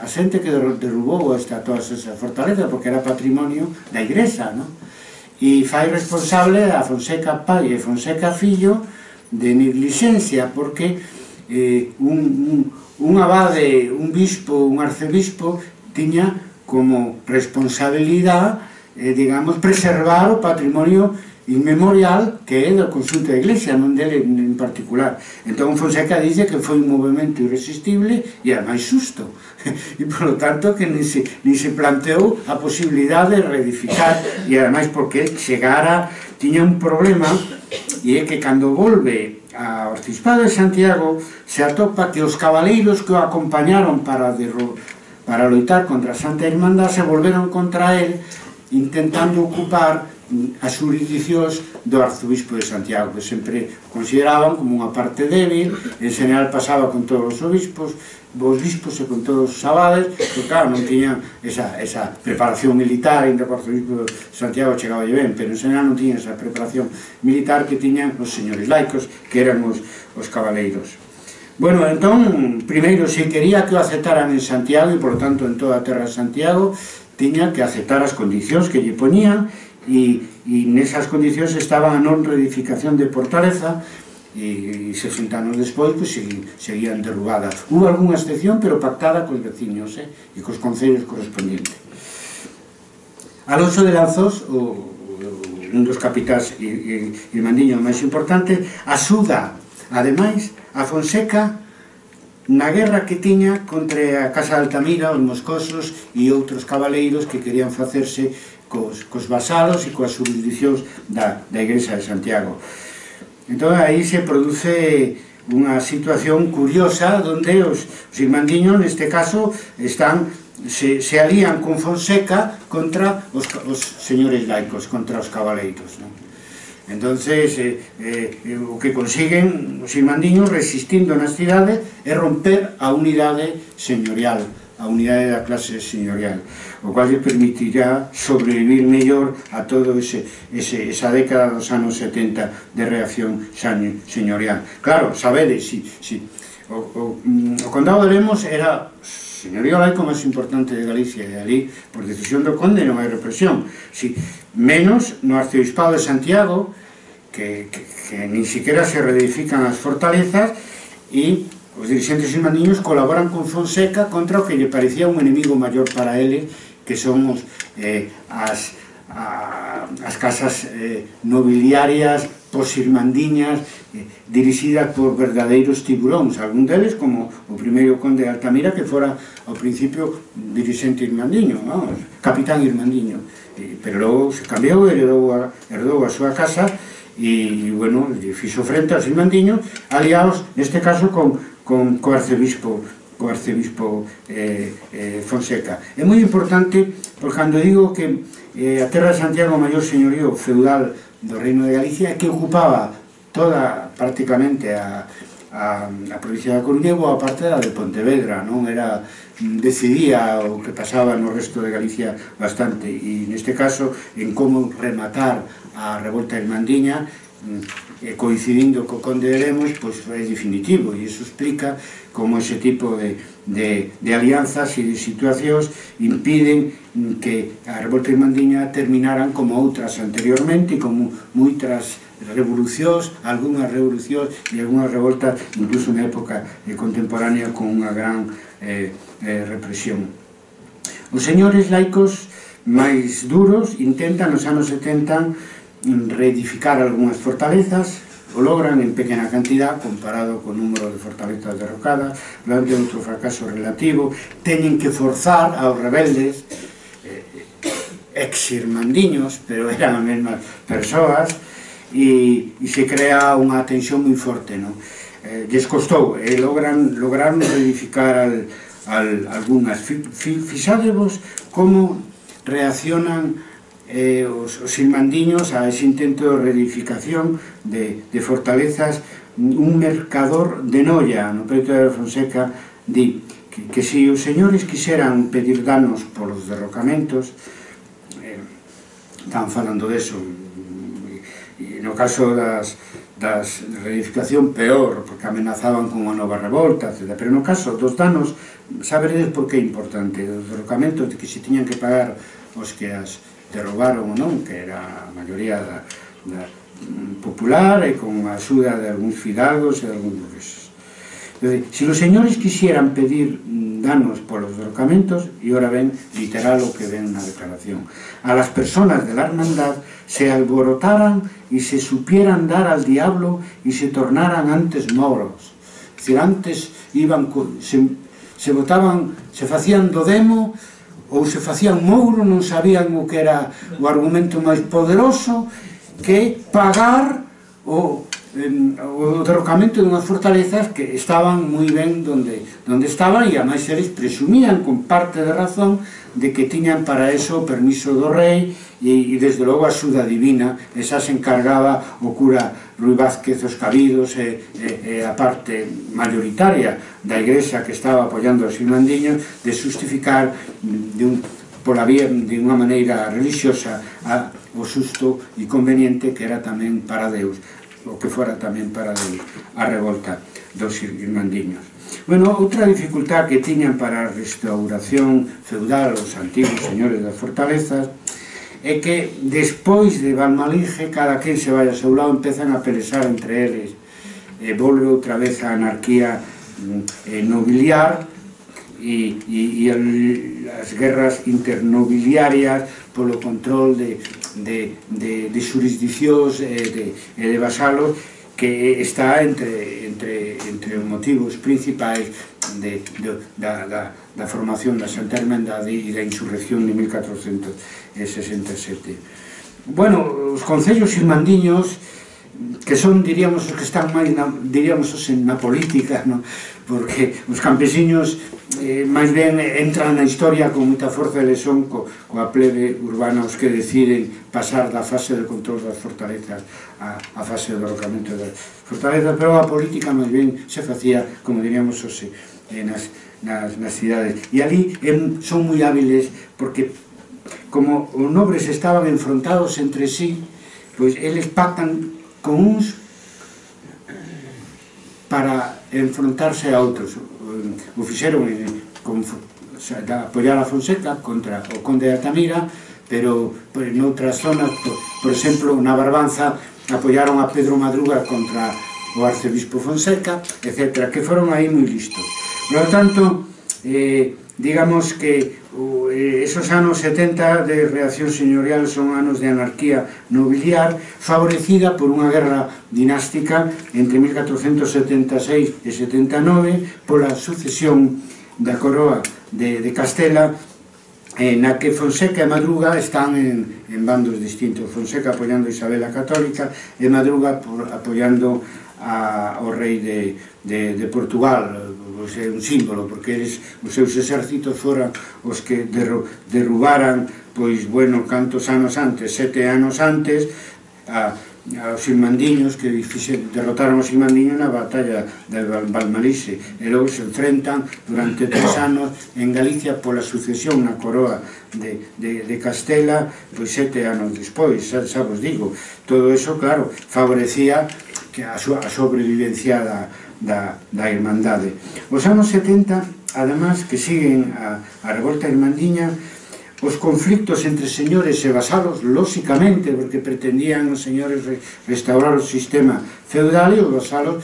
xente que derrubou todas esas fortalezas, porque era patrimonio da Igrexa, non? E fai responsable a Fonseca pai e Fonseca fillo de negligencia, porque un abade, un bispo, un arcebispo tiña como responsabilidade, digamos, preservar o patrimonio inmemorial que é do conxunto da Iglesia, non dele en particular. Entón Fonseca dice que foi un movimento irresistible e ademais xusto, e polo tanto que nin se planteou a posibilidade de reedificar, e ademais porque chegara, tiña un problema, e é que cando volve ao arciprestado de Santiago se atopa que os cabaleiros que o acompañaron para loitar contra a Santa Irmandad se volveron contra él, intentando ocupar as jurisdiccións do arzobispo de Santiago, que sempre consideraban como unha parte débil. En general pasaba con todos os bispos e con todos os abades, porque claro, non tiñan esa preparación militar, ainda que o arzobispo de Santiago chegaba ben, pero en general non tiñan esa preparación militar que tiñan os señores laicos, que eran os cabaleiros. Bueno, entón, primeiro, se quería que o aceptaran en Santiago, e por tanto en toda a terra de Santiago, tiña que aceptar as condicións que lle poñían, e nesas condicións estaba a non reedificación de Fortaleza, e 60 anos despois seguían derrubadas. Hubo algunha excepción, pero pactada cos veciños e cos concellos correspondientes. Alonso de Lanzos, un dos capitáns irmandiños máis importantes, axuda, ademais, a Fonseca na guerra que tiña contra a Casa de Altamira, os moscosos e outros cabaleiros que querían facerse cos vasalos e coas jurisdiccións da Igrexa de Santiago. Entón aí se produce unha situación curiosa onde os irmandiños, neste caso, se alían con Fonseca contra os señores laicos, contra os cabaleiros. Entonces, o que consiguen os irmandiños resistindo nas cidades é romper a unidade señorial, a unidade da clase señorial, o cual lle permitirá sobrevivir mellor a todo esa década dos anos 70 de reacción señorial. Claro, sabedes, o condado de Lemos era señorío laico máis importante de Galicia, e ali, por decisión do conde, non hai represión. Menos no arcebispado de Santiago, que nin siquiera se reedifican as fortalezas, e os dirigentes irmandiños colaboran con Fonseca contra o que lle parecía un enemigo maior para ele, que son as casas nobiliarias posirmandiñas dirixidas por verdadeiros tiburóns, algún deles como o primeiro conde de Altamira, que fora ao principio dirixente irmandiño, capitán irmandiño, pero logo se cambiou, heredou a súa casa e, bueno, fixo frente aos irmandiños aliados, neste caso, co arcebispo Fonseca. É moi importante, porque cando digo que a terra de Santiago, o maior señorío feudal do Reino de Galicia, que ocupaba toda, prácticamente, a provincia da Coruña, boa parte da de Pontevedra, non era, decidía o que pasaba no resto de Galicia bastante, e neste caso, en como rematar a revolta irmandiña, coincidindo co conde de Lemos, pois é definitivo, e iso explica como ese tipo de alianzas e de situacións impiden que a revolta irmandiña terminaran como outras anteriormente, como moitas revolucións, algunhas revolucións e algunhas revoltas, incluso na época contemporánea, con unha gran represión. Os señores laicos máis duros intentan nos anos 70 reedificar algunhas fortalezas, o logran en pequena cantidad comparado co número de fortalezas derrocadas, durante outro fracaso relativo, teñen que forzar aos rebeldes, ex-irmandiños, pero eran as mesmas persoas, e se crea unha tensión moi forte, non? Lles costou, e lograron reedificar algunhas. Fixádevos como reaccionan os irmandiños a ese intento de reedificación de fortalezas. Un mercador de Noia, no peito de Fonseca, di que se os señores quixeran pedir danos polos derrocamentos, están falando deso, e no caso das reedificación peor, porque amenazaban con unha nova revolta, etc. Pero no caso dos danos, saberedes por que é importante, os derrocamentos de que se tiñan que pagar os que as derrobaron ou non, que era a maioría popular e con a axuda de algúns fidalgos e de algúns burgueses. Se os señores quixeran pedir danos polos derrocamentos, e ora ben literal o que ven na declaración, a las personas de la hermandad se alborotaran y se supieran dar al diablo y se tornaran antes moros. Es decir, antes se votaban, se facían do demo ou se facían mouro, non sabían o que era o argumento máis poderoso que pagar o derrocamento de unhas fortalezas que estaban moi ben onde estaban, e ademais eles presumían con parte de razón de que tiñan para eso o permiso do rei e desde logo a axuda divina. Esa se encargaba o cura Rui Vázquez os cabidos e a parte mayoritaria da igrexa que estaba apoiando os irmandiños de justificar pola vía de unha maneira religiosa o xusto e conveniente que era tamén para Deus, o que fora tamén para Deus a revolta dos irmandiños. Bueno, outra dificultad que tiñan para a restauración feudal os antigos señores das fortalezas é que despois de Valmalige cada quen se vai a seu lado, empezan a pelexar entre eles, volve outra vez a anarquía nobiliar e as guerras internobiliarias polo control de xurisdiccións e de vasalos, que está entre os motivos principais da formación da Santa Hermandade e da insurrección de 1467. Bueno, os concellos irmandiños que son, diríamos, os que están máis, diríamos, na política, no? Porque os campesiños máis ben entran na historia con moita forza, eles son coa plebe urbana os que deciden pasar da fase de control das fortalezas a fase de derrocamento das fortalezas, pero a política máis ben se facía, como diríamos, nas cidades. E ali son moi hábiles porque, como os nobres estaban enfrontados entre sí, pois eles pactan con uns para enfrontarse a outros. O fixeron apoiar a Fonseca contra o conde de Altamira, pero noutras zonas, por exemplo, na Barbanza, apoiaron a Pedro Madruga contra o arcebispo Fonseca, etc., que foron aí moi listos. Por lo tanto, digamos que esos anos 70 de reacción señorial son anos de anarquía nobiliar, favorecida por unha guerra dinástica entre 1476 e 79 pola sucesión da coroa de Castela, na que Fonseca e Madruga están en bandos distintos. Fonseca apoiando a Isabel a Católica e Madruga apoiando ao rei de Portugal. É un símbolo, porque os seus exércitos foran os que derrubaran, pois, bueno, cantos anos antes, 7 anos antes, aos irmandiños, que derrotaron os irmandiños na batalla de Valmarise, e logo se enfrentan durante 3 anos en Galicia pola sucesión na coroa de Castela, pois 7 anos despois, xa vos digo. Todo eso, claro, favorecía a sobrevivencia da Irmandade. Os anos 70, además, que siguen a revolta irmandiña, os conflictos entre señores e vasalos, lóxicamente, porque pretendían os señores restaurar o sistema feudal, e os vasalos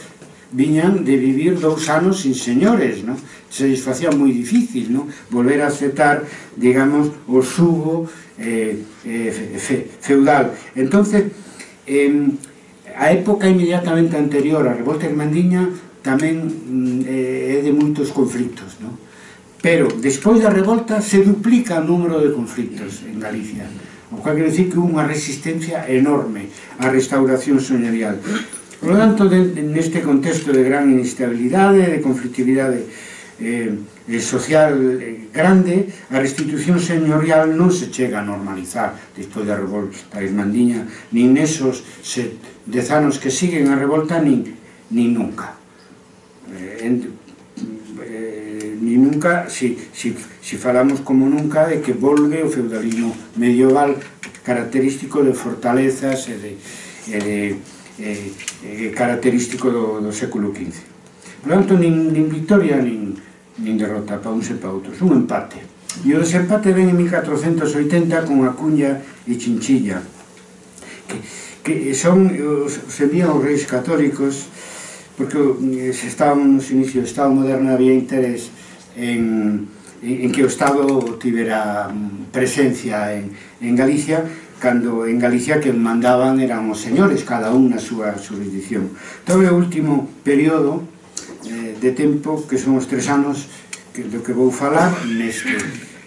viñan de vivir 2 anos sin señores, non? Se les facía moi difícil, non? Volver a aceptar, digamos, o xugo feudal. Entonces, a época inmediatamente anterior á revolta irmandiña tamén é de moitos conflictos, non? Pero, despois da revolta, se duplica o número de conflictos en Galicia, o que quer dicir que unha resistencia enorme á restauración señorial. Por lo tanto, neste contexto de gran inestabilidade, de conflictividade social grande, a restitución señorial non se chega a normalizar despois da revolta irmandiña, nin nesos 10 anos que siguen a revolta, nin nunca. Ni nunca, si falamos como nunca, de que volve o feudalismo medieval característico de fortalezas e característico do século XV. Por tanto, nin victoria nin derrota para uns e para outros, un empate. E o desempate ven en 1480 con Acuña e Chinchilla, que son os envían os reis católicos, porque se estaban nos inicios do Estado moderno, había interés en que o Estado tivera presencia en Galicia, cando en Galicia que mandaban eran os señores, cada un na súa jurisdicción. Todo o último período de tempo, que son os 3 anos do que vou falar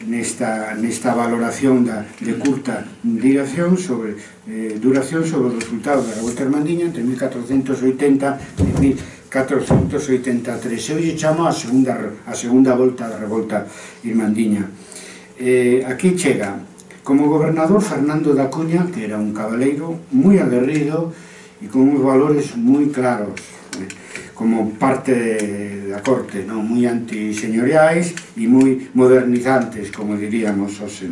nesta valoración de curta duración sobre o resultado da revolta irmandiña entre 1480 e 1483. Eu lle chamo a segunda volta da revolta irmandiña. Aquí chega como gobernador Fernando da Cuña, que era un cabaleiro moi aguerrido e con uns valores moi claros, como parte da corte, moi antiseñoriais e moi modernizantes, como diríamos hoxe.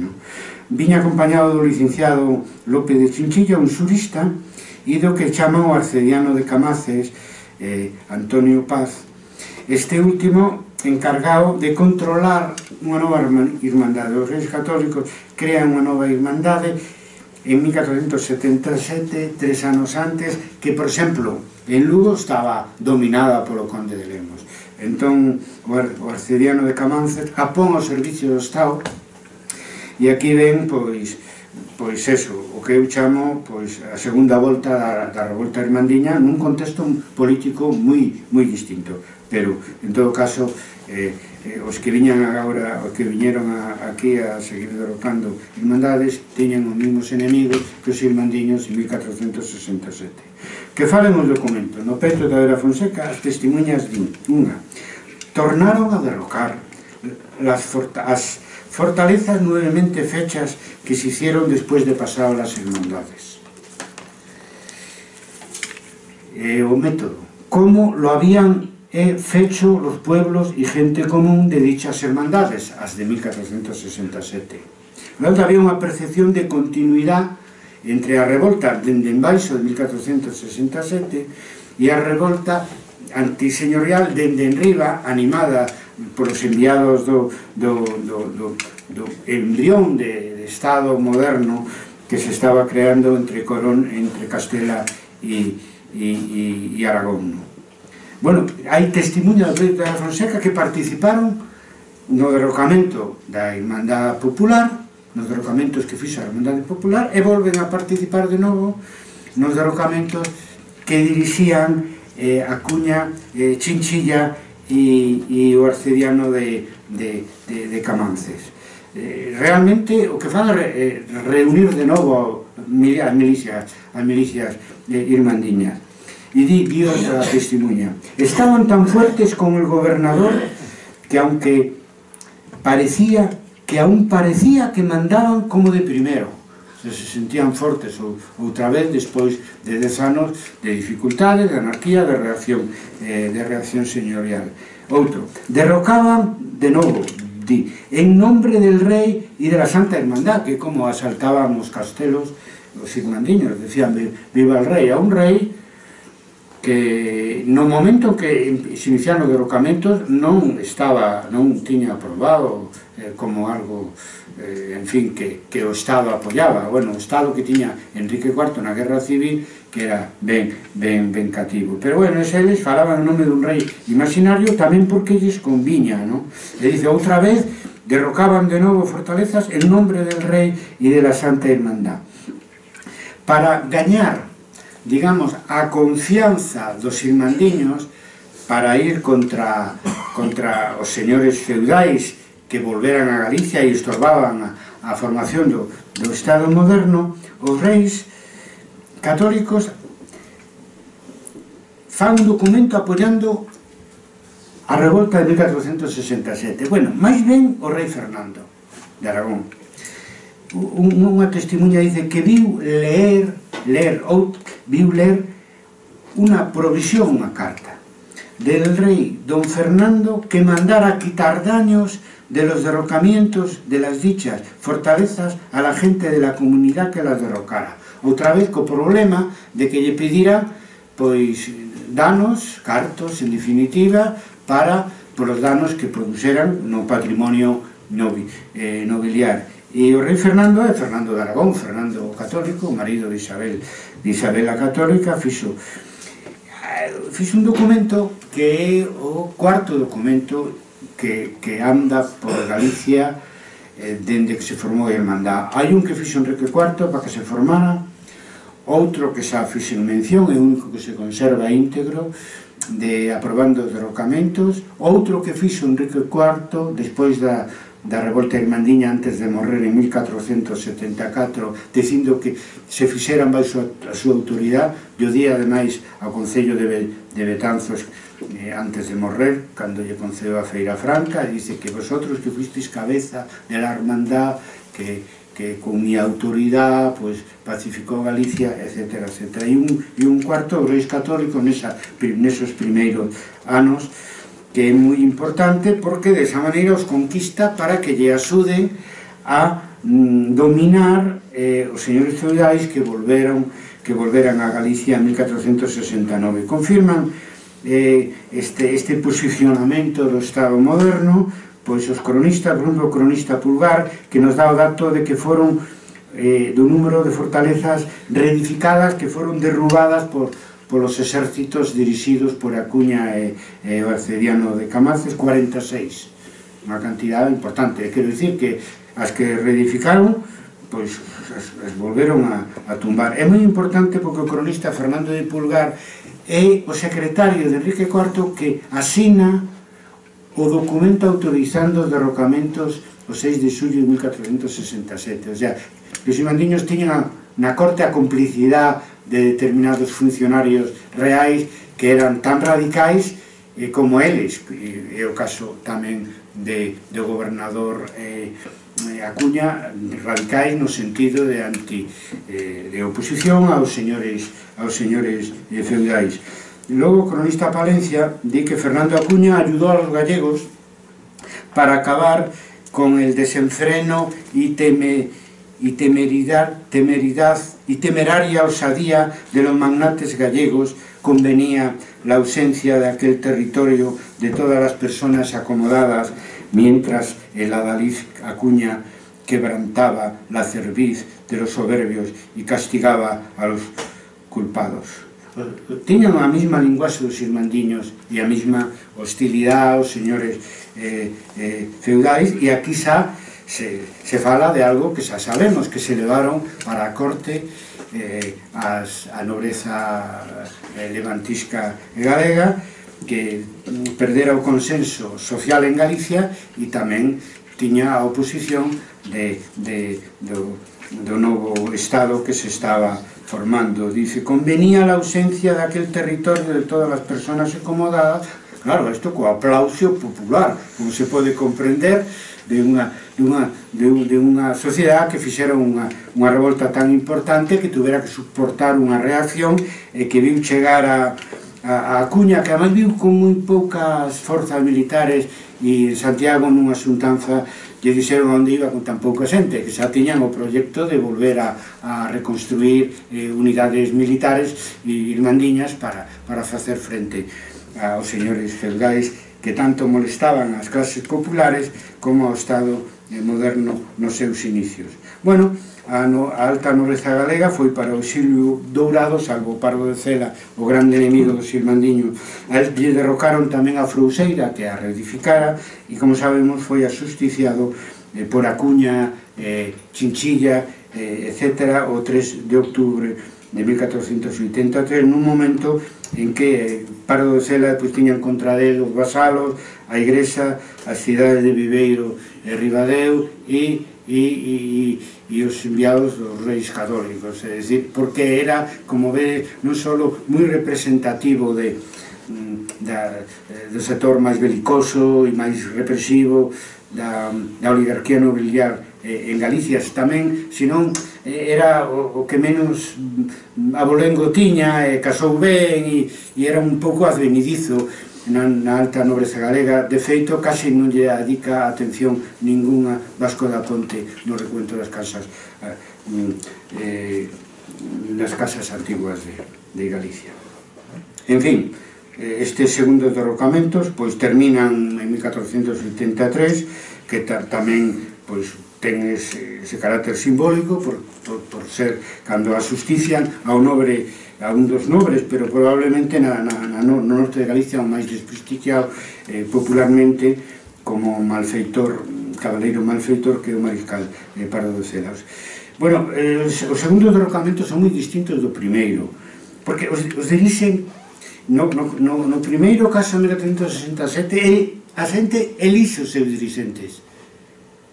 Viña acompañado do licenciado López de Chinchilla, un xurista, e do que chaman o arcediano de Camaces, Antonio Paz, este último encargado de controlar unha nova irmandade. Os reis católicos crean unha nova irmandade en 1477, 3 anos antes, que, por exemplo, en Lugo estaba dominada polo conde de Lemos. Entón, o arcediano de Camaces apón ao servicio do Estado, e aquí ven, pois eso, o que eu chamo a segunda volta da revolta irmandiña nun contexto político moi distinto, pero, en todo caso, os que viñeron aquí a seguir derrotando irmandades tiñan os mesmos enemigos que os irmandiños en 1467. Que falen os documentos. No peito da Vera Fonseca, as testemunhas din, unha, tornaron a derrocar as fortalezas nuevamente fechas que se hicieron después de pasar las hermandades. O método, cómo lo habían fecho los pueblos y gente común de dichas hermandades, as de 1467. Logo había unha percepción de continuidade entre a revolta dende embaixo de 1467 e a revolta antiseñorial dende enriba, animada polos enviados do embrión de Estado moderno que se estaba creando entre Castela e Aragón. Bueno, hai testemunhas de Vera Fonseca que participaron no derrocamento da Irmandade Popular, nos derrocamentos que fixo a Irmandade Popular, e volven a participar de novo nos derrocamentos que dirixían Acuña, Chinchilla e o arcediano de Camances. Realmente o que fan é reunir de novo as milicias irmandiñas. Y di otra testimonio. Estaban tan fuertes con el gobernador que aún parecía que mandaban como de primero. Se sentían fortes outra vez despois de 10 anos de dificultades, de anarquía, de reacción señorial. Outro, derrocaban de novo, di, en nombre del rey e de la Santa Hermandad, que como asaltaban os castelos os irmandiños, decían viva el rey, a un rei que no momento que se iniciaron os derrocamentos non tiña aprobado como algo, en fin, que o Estado apoyaba. Bueno, o Estado que tiña Enrique IV na Guerra Civil, que era ben cativo. Pero bueno, eles falaban en nome dun rei imaginario tamén porque lles conviña, non? E dice, outra vez, derrocaban de novo fortalezas en nombre del rei e de la Santa Hermandad. Para gañar, digamos, a confianza dos irmandiños para ir contra os señores feudais que volveran a Galicia e estorbaban a formación do Estado moderno, os reis católicos fan un documento apoiando a revolta de 1467. Bueno, máis ben o rei Fernando de Aragón. Unha testemunha dice que viu ler unha provisión, unha carta del rey don Fernando que mandara quitar daños de los derrocamientos de las dichas fortalezas a la gente de la comunidad que las derrocara. Outra vez co problema de que lle pedira pois danos, cartos, en definitiva, por os danos que produceran no patrimonio nobiliar. E o rei Fernando é Fernando de Aragón, Fernando Católico, o marido de Isabel a Católica, fixo un documento que é o cuarto documento que anda por Galicia dende que se formou a Irmandad. Hai un que fixo Enrique IV para que se formara, outro que xa fixen mención, é o único que se conserva íntegro, aprobando os derrocamentos, outro que fixo Enrique IV despois da revolta irmandiña antes de morrer en 1474, dicindo que se fixeran baixo a súa autoridade, e o día ademais ao Concello de Betanzos antes de morrer, cando lle concedeu a Feira Franca, dice que vosotros que fuisteis cabeza de la hermandad que con mi autoridade pacificou Galicia, etc. E un cuarto, os reis católicos nesos primeiros anos, que é moi importante porque desa maneira os conquista para que lle axuden a dominar os señores feudais que volveran a Galicia en 1469. Confirman este posicionamento do Estado moderno, pois os cronistas, por exemplo, o cronista Pulgar, que nos dá o dato de que foron do número de fortalezas reedificadas que foron derrubadas polos exércitos dirixidos por Acuña e o arcediano de Camances, 46, unha cantidade importante. Quero dicir que as que reedificaron, pois as volveron a tumbar. É moi importante porque o cronista Fernando de Pulgar é o secretario de Enrique IV que asina o documento autorizando os derrocamentos o 6 de xullo de 1467. O sea, que os irmandiños tiñan na corte a complicidade de determinados funcionarios reais que eran tan radicais como eles. É o caso tamén do gobernador Acuña, radicais no sentido de oposición aos señores feudais. Logo, o cronista Palencia di que Fernando Acuña ayudó a los gallegos para acabar con el desenfreno y temeraria osadía de los magnates gallegos. Convenía la ausencia de aquel territorio de todas las personas acomodadas, mientras el adalid Acuña quebrantaba la cerviz de los soberbios y castigaba a los culpados. Tiñan a mesma linguaxe dos irmandiños e a mesma hostilidade aos señores feudais, e aquí xa se fala de algo que xa sabemos, que se levaron para a corte a nobreza levantisca galega, que perdera o consenso social en Galicia e tamén tiña a oposición do novo Estado que se estaba formando. Dice, convenía la ausencia de aquel territorio de todas las personas acomodadas. Claro, isto co aplauso popular, como se pode comprender, de unha sociedade que fixera unha revolta tan importante que tuvera que soportar unha reacción e que viu chegar a Acuña, que además viu con moi poucas forzas militares, e Santiago nunha xuntanza lle dixeron onde iba con tan pouca xente, que xa tiñan o proxecto de volver a reconstruir unidades militares e irmandiñas para facer frente aos señores feudais que tanto molestaban as clases populares como ao Estado moderno nos seus inicios. Bueno, a alta nobreza galega foi para o exilio dourado, salvo Pardo de Cela, o grande enemigo dos irmandiños. A él lle derrocaron tamén a Frouseira, que a reedificara, e como sabemos foi asusticiado por Acuña, Chinchilla, etc., o 3 de outubro de 1483, nun momento en que Pardo de Cela tiñan contra él os vasalos, a igrexa, as cidades de Viveiro e Ribadeo e os enviados dos reis católicos, é dicir, porque era, como ve, non só moi representativo do sector máis belicoso e máis represivo da oligarquía nobiliar en Galicia tamén, senón era o que menos abolengo tiña, casou ben e era un pouco advenidizo na alta nobreza galega. De feito, case non lle dedica atención ninguna Vasco da Ponte no recuento das casas antiguas de Galicia. En fin, estes segundos derrocamentos terminan en 1483, que tamén ten ese carácter simbólico por ser cando asustician a un dos nobres, pero probablemente no norte de Galicia o máis desprestigiado popularmente como malfeitor, cabaleiro malfeitor, que é o mariscal Pardo de Cela. Bueno, os segundos derrocamentos son moi distintos do primeiro, porque os dirixen no primeiro caso, en 1367, a xente elixe os seus dirixentes,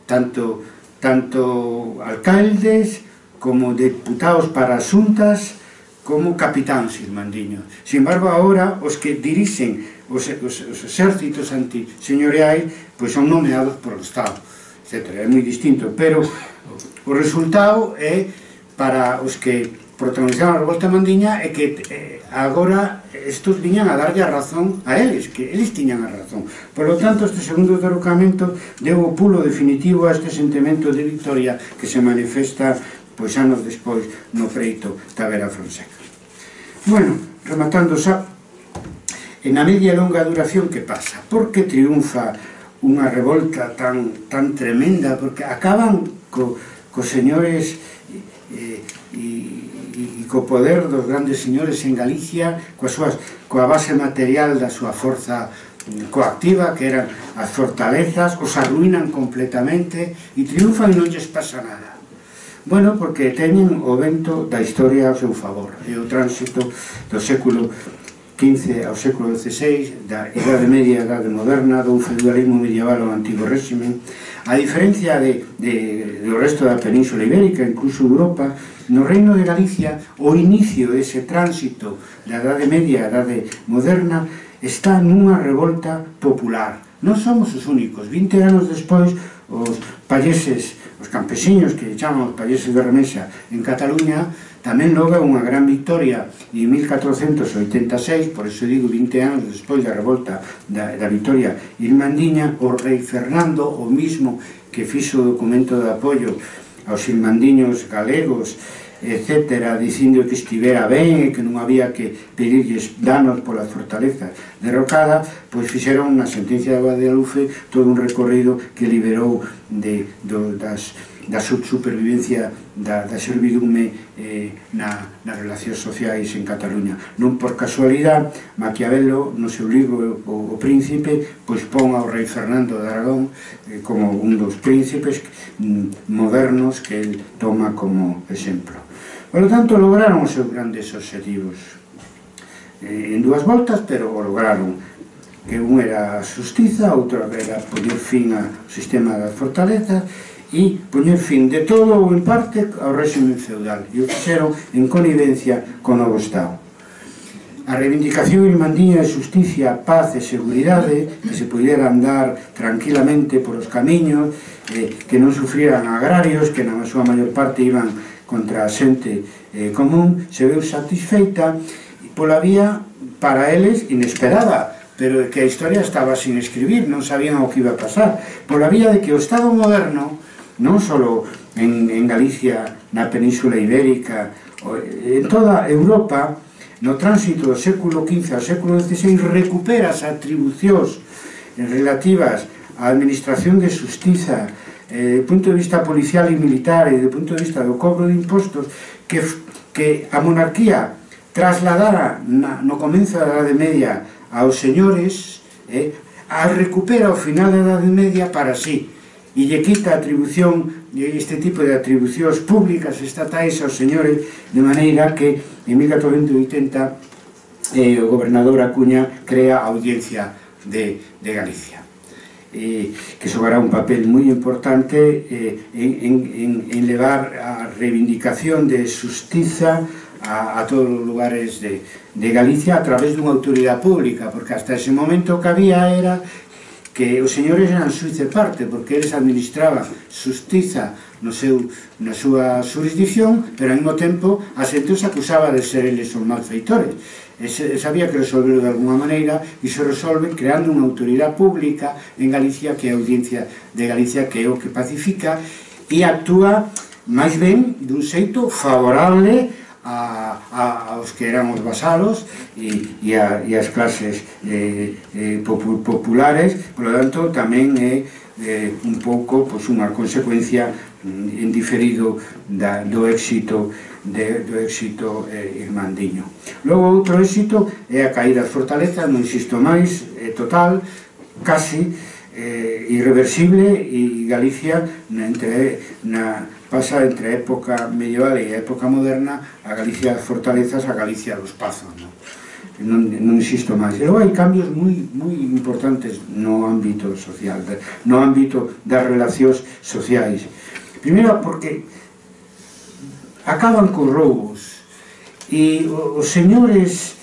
tanto alcaldes como deputados para as xuntas como capitáns irmandiños. Sin embargo, agora os que dirixen os exércitos antiseñoriais son nomeados por o Estado, etc. É moi distinto, pero o resultado é, para os que protagonizaron a revolta mandiña, é que agora estos viñan a darlle a razón a eles, que eles tiñan a razón. Por lo tanto, este segundo derrocamento deu o pulo definitivo a este sentimento de victoria que se manifesta anos despois no preito da Vera Fonseca. Bueno, rematando xa, en a media e longa duración, que pasa? Por que triunfa unha revolta tan tremenda? Porque acaban cos señores e co poder dos grandes señores en Galicia, coa base material da súa forza coactiva, que eran as fortalezas, os arruinan completamente e triunfan e non lles pasa nada. Bueno, porque teñen o vento da historia ao seu favor, e o tránsito do século XV ao século XVI, da Idade Media e Idade Moderna, dun feudalismo medieval ao antigo réximen. A diferencia de do resto da Península Ibérica, incluso Europa, no Reino de Galicia, o inicio dese tránsito da Edade Media á Edade Moderna está nunha revolta popular. Non somos os únicos. 20 anos despois, os payeses, os campesiños, que chaman os payeses de remesa en Cataluña, tamén logra unha gran victoria en 1486, por eso digo 20 anos despois da revolta da victoria irmandiña, o rei Fernando, o mismo que fixo o documento de apoio aos irmandiños galegos, etc., dicindo que estivera ben e que non había que pedirlles danos pola fortaleza derrocada, pois fixeron na sentencia de Guadalupe todo un recorrido que liberou da supervivencia da servidume nas relacións sociais en Cataluña. Non por casualidade, Maquiavelo, no seu libro O Príncipe, pois pon ao rei Fernando de Aragón como un dos príncipes modernos que el toma como exemplo. Por lo tanto, lograron os seus grandes obxectivos en dúas voltas, pero o lograron, que un era a xustiza, outro era poñer fin ao sistema das fortalezas e poñer fin de todo ou en parte ao régimen feudal, e o fixeron en connivencia co novo Estado. A reivindicación irmandiña de xusticia, paz e seguridade, que se pudiera andar tranquilamente por os camiños, que non sufrieran agrarios, que na súa maior parte iban contra a xente común, se veu satisfeita pola vía, para eles, inesperada, pero que a historia estaba sin escribir, non sabían o que iba a pasar, pola vía de que o Estado moderno, non só en Galicia, na Península Ibérica, en toda Europa, no tránsito do século XV ao século XVI, recupera as atribucións relativas á administración de xustiza, do punto de vista policial e militar e do punto de vista do cobro de impostos, que a monarquía trasladara no comezo da Edade Media aos señores, a recupera ao final da Edade Media para sí, e lle quita a atribución, este tipo de atribucións públicas estatais aos señores, de maneira que en 1480 o gobernador Acuña crea a Audiencia de Galicia, que xogará un papel moi importante en levar a reivindicación de xustiza a todos os lugares de Galicia a través dunha autoridade pública, porque hasta ese momento o que había era que os señores eran xuiz de parte, porque eles administraban xustiza na súa jurisdicción, pero ao mesmo tempo a xente os acusaba de ser eles os malfeitores. Había que resolverlo de alguna maneira, e se resolve creando unha autoridade pública en Galicia, que é a Audiencia de Galicia, que é o que pacifica e actúa máis ben dun xeito favorable aos que eran os vasalos e as clases populares. Por lo tanto, tamén é un pouco unha consecuencia en diferido do éxito irmandiño. Logo, outro éxito é a caída das fortalezas, non insisto máis, total, casi irreversible, e Galicia pasa entre a época medieval e a época moderna, a Galicia das fortalezas, a Galicia dos pazos, non insisto máis. E logo hai cambios moi importantes no ámbito social, no ámbito das relacións sociais. Primeiro, porque acaban cos roubos, e os señores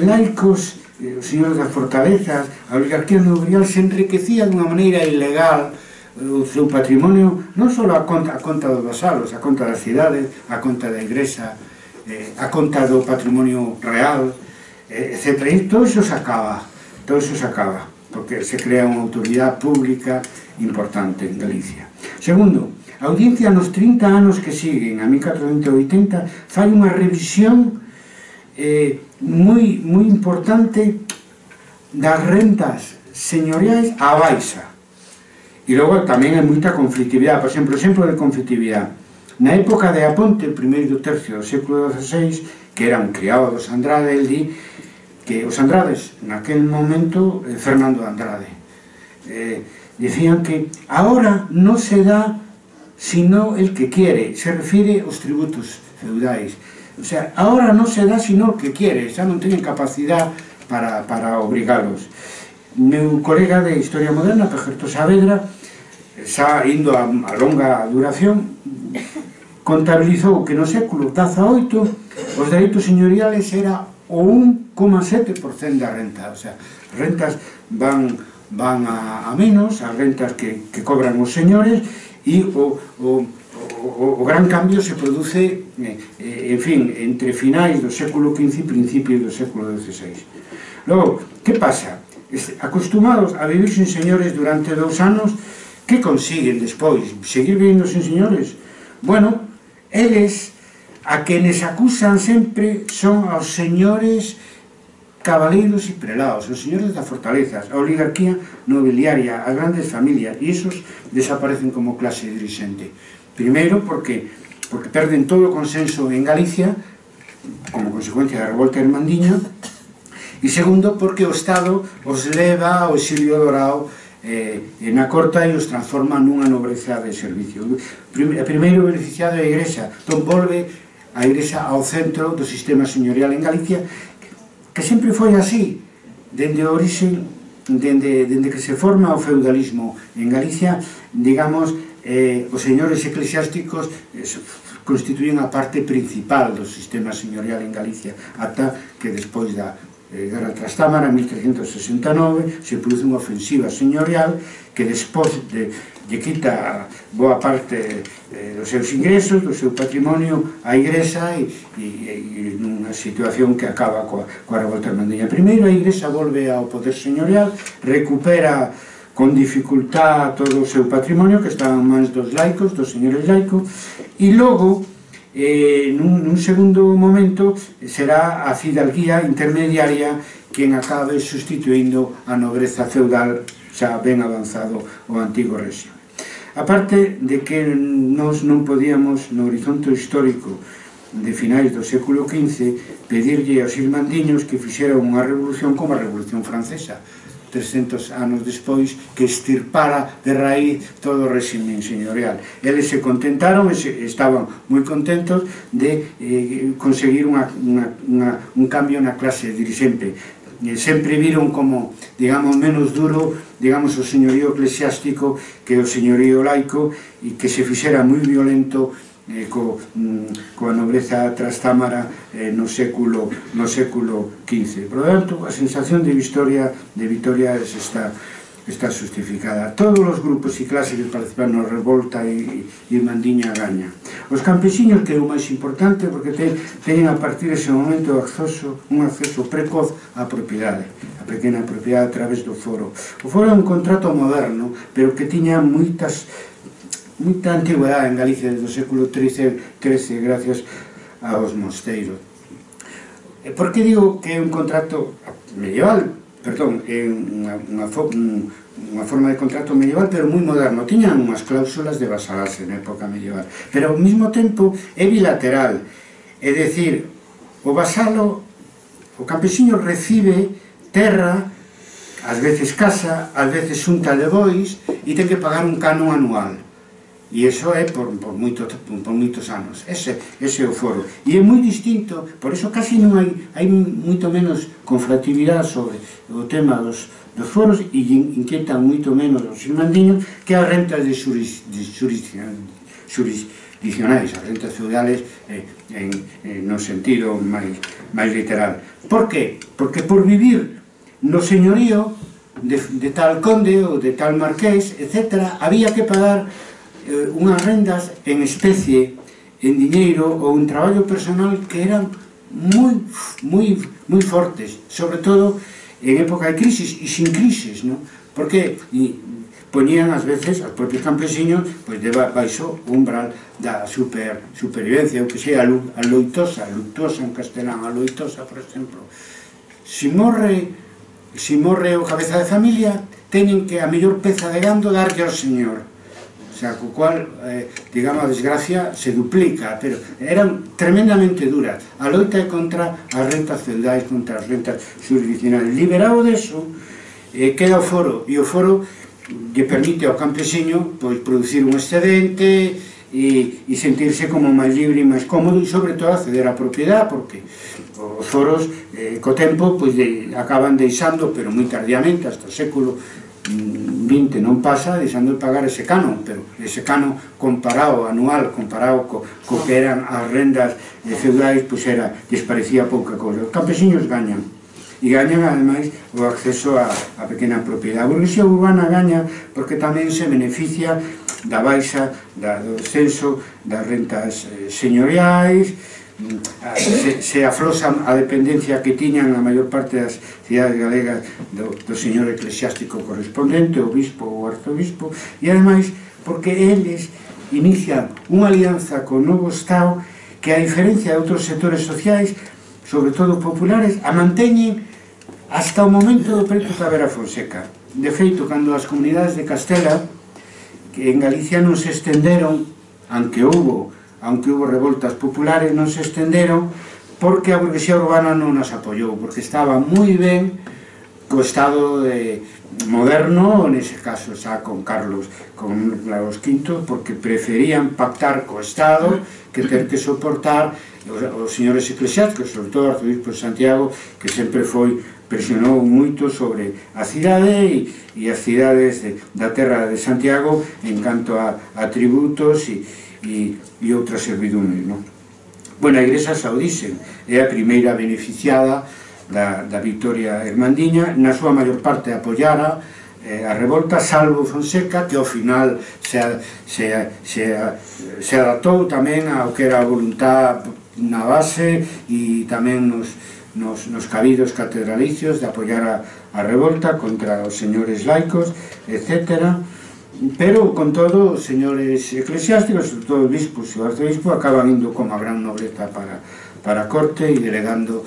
laicos, os señores das fortalezas, a oligarquía nobreal se enriquecía dunha maneira ilegal o seu patrimonio, non só a conta dos vasalos, a conta das cidades, a conta da igrexa, a conta do patrimonio real, etc. E todo iso se acaba, porque se crea unha autoridade pública importante en Galicia. Segundo, a Audiencia nos 30 anos que siguen, a 1480, fai unha revisión moi importante das rentas señoriais á baixa. E logo tamén hai moita conflictividade. Por exemplo, exemplo de conflictividade. Na época de Aponte, o primeiro tercio do século XVI, que era un criado dos Andrade, el di que os Andrades, naquel momento, Fernando Andrade, decían que ahora non se dá sino el que quiere, se refiere aos tributos feudais. O sea, ahora non se dá sino el que quiere, xa non teñen capacidade para obrigalos. Meu colega de Historia Moderna, Pejerto Saavedra, xa indo a longa duración, contabilizou que no século XVIII os dereitos señoriales era o 1,7% da renta, o sea, as rentas van a menos, as rentas que cobran os señores, e o gran cambio se produce, en fin, entre finais do século XV e principios do século XVI. Logo, que pasa? Acostumados a vivir sin señores durante 2 anos, que consiguen despois? Seguir vivindo sin señores? Bueno, eles, a quenes acusan sempre, son aos señores cabaleiros e prelados, os señores das fortalezas, a oligarquía nobiliaria, as grandes familias, e esos desaparecen como clase dirixente. Primeiro, porque perden todo o consenso en Galicia, como consecuencia da revolta irmandiña, e segundo, porque o Estado os leva ao exilio dorado na corta e os transforma nunha nobreza de servicio. A primeiro beneficiado é a Igrexa, entón volve a Igrexa ao centro do sistema señorial en Galicia, que sempre foi así, dende a orixe, dende que se forma o feudalismo en Galicia, digamos, os señores eclesiásticos constituyen a parte principal do sistema señorial en Galicia, ata que despois da Guerra Trastámara, en 1369, se produce unha ofensiva señorial que despois lle quita boa parte dos seus ingresos, do seu patrimonio á Igrexa, e nunha situación que acaba coa revolta irmandiña. Primeiro a Igrexa volve ao poder señorial, recupera con dificultad todo o seu patrimonio que estaba en mans dos laicos, dos señores laicos, e logo nun segundo momento será a fidalguía intermediaria quen acabe sustituindo a nobreza feudal xa ben avanzado o antigo réxime. A parte de que nós non podíamos no horizonte histórico de finais do século XV pedirlle aos irmandiños que fixeran unha revolución como a Revolución Francesa 300 anos despois, que extirpara de raíz todo o réxime señorial. Eles se contentaron, estaban moi contentos de conseguir un cambio na clase dirixente. Sempre viron como, digamos, menos duro, digamos, o señorío eclesiástico que o señorío laico, e que se fixera moi violento coa nobreza trastámara no século XV. Por lo tanto, a sensación de vitoria está justificada. Todos os grupos e clases que participaron na revolta irmandiña gañan. Os campesiños, que é o máis importante, porque teñen a partir dese momento un acceso precoz á propiedade, a pequena propiedade a través do foro. O foro é un contrato moderno, pero que tiña moita antigüedade en Galicia desde o século XIII gracias aos mosteiros. Por que digo que é un contrato medieval? Perdón, é unha forma de contrato medieval, pero moi moderno. Tiñan unhas cláusulas de vasalaxe na época medieval, pero ao mesmo tempo é bilateral, é dicir, o vasalo, o campesiño recibe terra, ás veces casa, ás veces xunta de bois, e ten que pagar un canon anual. E iso é por moitos anos. Ese é o foro. E é moi distinto, por iso casi non hai moito menos confratividade sobre o tema dos foros, e inquietan moito menos os irmandiños que as rentas jurisdiccionais, as rentas feudales no sentido máis literal. Por qué? Porque por vivir no señorío de tal conde ou de tal marqués, etc., había que pagar unhas rendas en especie, en diñeiro ou en traballo personal que eran moi fortes, sobre todo en época de crisis e sin crisis, porque poñían ás veces aos propios campesiños baixo o umbral da supervivencia, o que sea a luctuosa en castelán, a loitosa, por exemplo. Se morre o cabeza de familia, teñen que a mellor peza de gando darlle ao señor. O sea, co cual, digamos, a desgracia se duplica, pero eran tremendamente duras. A loita é contra as rentas feudais, contra as rentas jurisdiccionales. Liberado deso, queda o foro, e o foro lle permite ao campesiño producir un excedente e sentirse como máis libre e máis cómodo, e sobre todo acceder á propiedade, porque os foros, co tempo, acaban deixando, pero moi tardíamente, hasta o século 20 non pasa deixando de pagar ese canon, pero ese canon comparado, anual, comparado co que eran as rendas feudais, pois lles parecía pouca cousa. Os campesiños gañan, e gañan ademais o acceso a pequena propiedade. A burguesía urbana gaña porque tamén se beneficia da baixa do descenso das rentas señoriais, se aflosan a dependencia que tiñan a maior parte das cidades galegas do señor eclesiástico correspondente, o bispo ou arzobispo, e ademais porque eles inician unha alianza co novo Estado que, a diferencia de outros sectores sociais, sobre todo populares, a manteñen hasta o momento do pleito Tavera Fonseca. De feito, cando as comunidades de Castela, que en Galicia non se estenderon, aunque houve revoltas populares, non se estenderon porque a burguesía urbana non nas apoiou, porque estaba moi ben co Estado moderno, nese caso xa con Carlos V, porque preferían pactar co Estado que ter que soportar os señores eclesiásticos, sobre todo o arzobispo de Santiago, que sempre presionou moito sobre a cidade e as cidades da terra de Santiago en canto a tributos e outras servidumes. Bueno, a Igrexa saudise é a primeira beneficiada da Victoria Hermandiña, na súa maior parte apoiara a revolta, salvo Fonseca, que ao final se adaptou tamén ao que era a voluntad na base e tamén nos cabidos catedralicios de apoiar a revolta contra os señores laicos, etc. Pero, con todo, os señores eclesiásticos, sobre todo os bispos e o arzobispo, acaban indo como a gran nobreza para a corte e delegando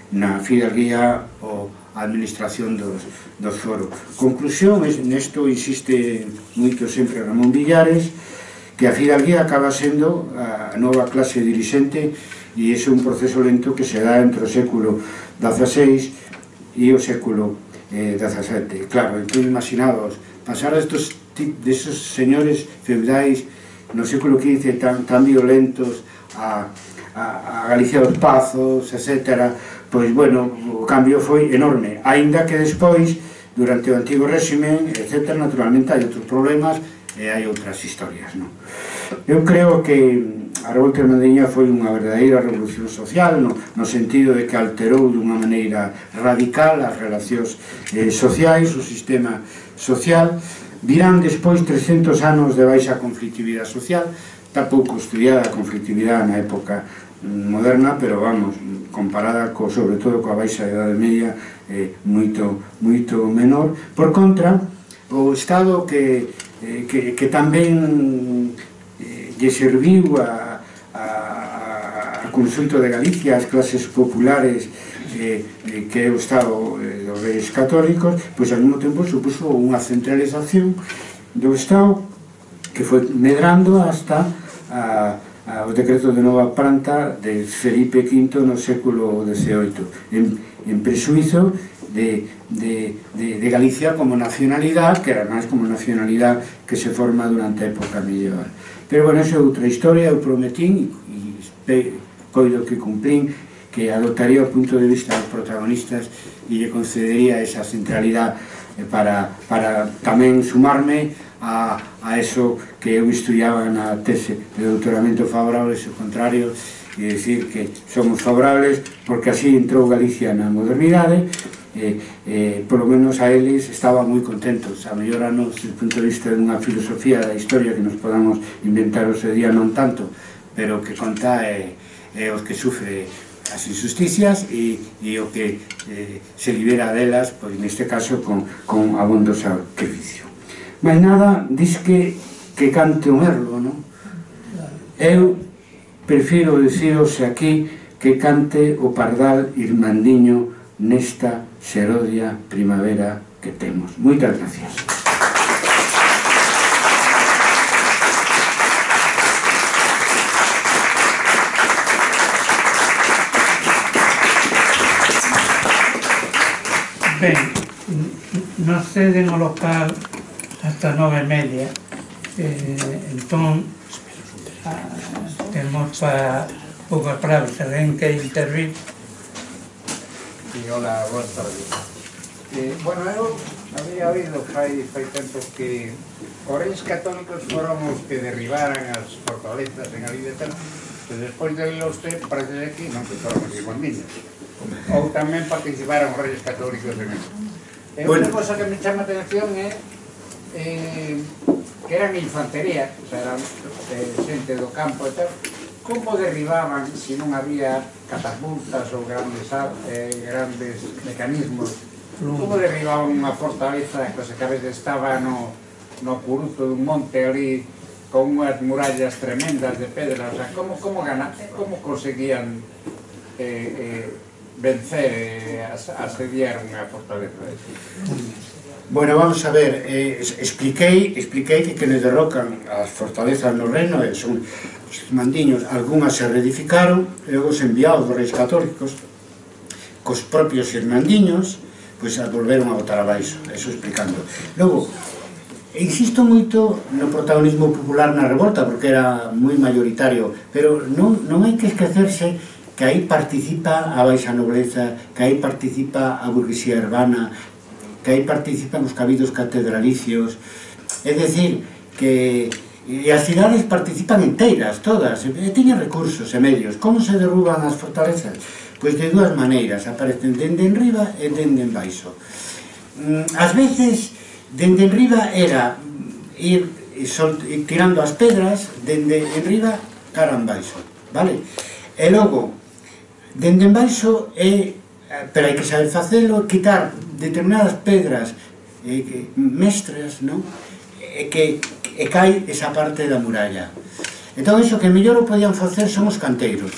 na fidalguía a administración dos foros. Conclusión, nesto insiste moito sempre Ramón Villares, que a fidalguía acaba sendo a nova clase dirixente e é un proceso lento que se dá entre o século XVI e o século XVII. Claro, entón imaginados pasar desos señores feudais no século XV tan violentos a Galicia dos Pazos, etc. Pois, bueno, o cambio foi enorme, aínda que despois, durante o antigo réximen, etc., naturalmente hai outros problemas e hai outras historias. Eu creo que a revolta hermandiña foi unha verdadeira revolución social, no sentido de que alterou dunha maneira radical as relacións sociais, o sistema social. Virán despois 300 anos de baixa conflictividade social, está pouco estudiada a conflictividade na época moderna, pero vamos, comparada sobre todo coa baixa Idade Media, moito menor. Por contra, o Estado que tamén lle serviu a consulto de Galicia, as clases populares, que é o Estado dos Reis Católicos, pois ao mesmo tempo supuso unha centralización do Estado que foi medrando hasta o decreto de Nova Planta de Felipe V no século XVIII, en presuizo de Galicia como nacionalidade, que era máis como nacionalidade que se forma durante a época medieval. Pero, bueno, esa é outra historia. Eu prometín, e coido que cumplín, que adoptaría o punto de vista dos protagonistas e lle concedería esa centralidade para tamén sumarme a eso que eu estudiaba na tese de doutoramento favorable, o contrario, e dicir que somos favorables porque así entrou Galicia na modernidade. Por lo menos a eles estaban moi contentos. A mellor desde o punto de vista de unha filosofía da historia que nos podamos inventar o seu día non tanto, pero o que conta é os que sufre as injusticias e o que se libera delas, pois neste caso con abondo sacrificio. Mais nada, dis que cante o merlo, non? Eu prefiro deciros aquí que cante o pardal irmandiño nesta serodia primavera que temos. Moitas gracias. Ben, nos ceden o local hasta 9:30, entón temos para poucas palabras. Se alguén que intervir. Sí, hola, boas tardes. Bueno, eu Había oído fai tempo que os reis católicos foron os que derribaran as fortalezas en Galicia, e despois de oírlo usted parece que non, que foron os irmandiños. Ou tamén participaron os reis católicos en eso. Unha cosa que me chama a atención é que eran infantería, o sea, eran xente do campo e tal. Como derribaban se non había catapultas ou grandes mecanismos? Como derribaban unha fortaleza que a veces estaba no curuzo dun monte ali con unhas murallas tremendas de pedra? O sea, como conseguían vencer, asediar unha fortaleza de eso? Bueno, vamos a ver, expliquei que quenes derrocan as fortalezas no reino son os mandiños. Algúnas se reedificaron e logo se enviados dos reis católicos cos propios irmandiños, pois a volveron a botar abaixo, eso explicando. Logo, insisto moito no protagonismo popular na revolta, porque era moi mayoritario, pero non hai que esquecerse que aí participa a baixa nobleza, que aí participa a burguesía urbana, que aí participan os cabidos catedralicios, é dicir, que as cidades participan enteiras, todas, e tiñen recursos e medios. Como se derruban as fortalezas? Pois de dúas maneiras, aparecen dende en riba e dende en baixo. Ás veces, dende en riba era ir tirando as pedras, dende en riba cara en baixo, vale? E logo, dende en baixo pero hai que saber facelo, quitar determinadas pedras mestras, non? E cai esa parte da muralla. Entón, iso que mellor o podían facer son os canteiros.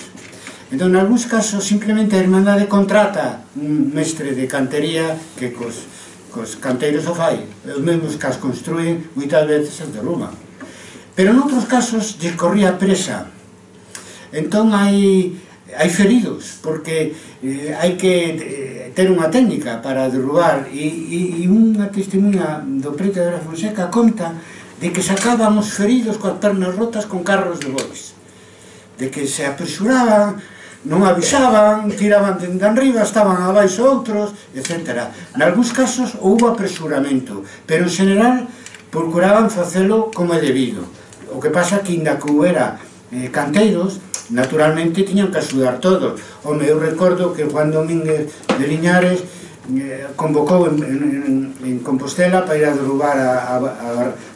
Entón, en algúns casos, simplemente a Irmandade contrata un mestre de cantería que cos canteiros o fai. Os mesmos que as construen, moitas veces as derruban. Pero noutros casos, lles corría presa. Entón, hai feridos, porque hai que ter unha técnica para derrubar, e unha testemunha do prete de la Fonseca conta de que sacaban os feridos coas pernas rotas con carros de bois, de que se apresuraban, non avisaban, tiraban dende arriba, estaban abaixo outros, etc. Nalgúns casos houve apresuramento, pero en general procuraban facelo como é debido. O que pasa que, inda que houbera canteiros, naturalmente tiñan que axudar todos. Home, eu recordo que Juan Domínguez de Liñares convocou en Compostela para ir a derrubar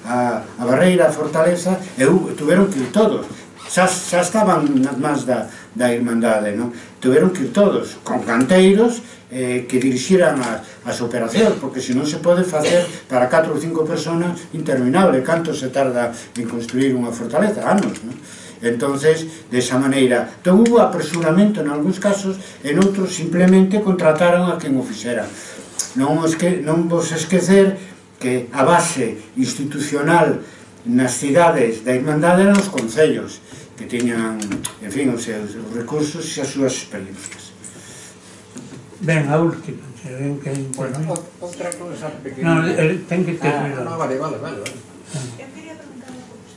a barreira, a fortaleza, e tuveron que ir todos. Xa estaban nas mans da Irmandade, non? Tuveron que ir todos, con canteiros que dirixiran as operacións, porque se non se pode facer para 4 ou 5 personas interminable. Canto se tarda en construir unha fortaleza? Anos, non? Entonces, desa maneira, entón hubo apresuramento en algúns casos, en outros simplemente contrataron a quen o fixera. Non vos esquecer que a base institucional nas cidades da Irmandade eran os concellos, que tiñan, en fin, os seus recursos e as súas experiencias. Ben, a última, se ven que... Bueno, outra cousa pequena... Non, ten que ter cuidado. Non, vale. Eu quería preguntar unha cousa.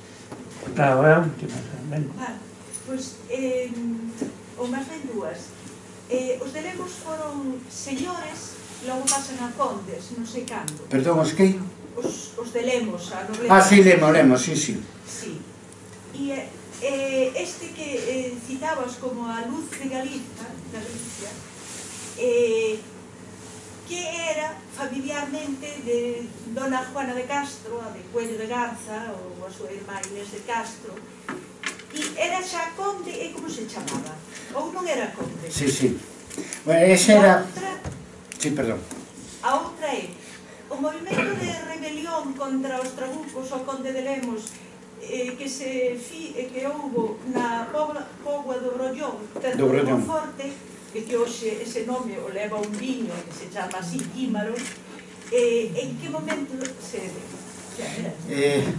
Claro, é a última. Pois, ou máis ben dúas. Os de Lemos foron señores, logo pasan a condes, non sei cando. Perdón, os que? Os de Lemos, a nobleza. Ah, sí, Lemos, sí. Sí. E este que citabas como a luz de Galicia, que era familiarmente de dona Juana de Castro, a de Cuello de Garza, ou a súa irmá Inés de Castro. E era xa conde, e como se chamaba? Ou non era conde? Sí. Bueno, ese era... Sí, perdón. A outra é o movimento de rebelión contra os trabucos ao conde de Lemos que houbo na Póvoa do Brollón, tanto do Forte, que hoxe ese nome o leva un viño que se chama así, Químaro. En que momento se...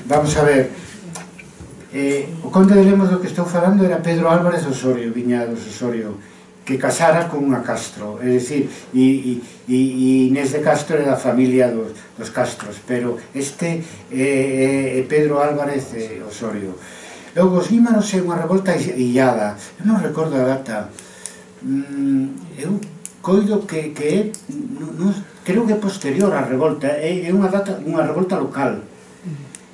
Vamos a ver. O conde de Lemos do que estou falando era Pedro Álvarez Osorio, Viñados Osorio, que casara con unha Castro, é dicir, e Inés de Castro era da familia dos Castros, pero este é Pedro Álvarez Osorio. Logo, os Guímaros é unha revolta illada, eu non recordo a data, eu coido que creo que posterior á revolta, é unha revolta local,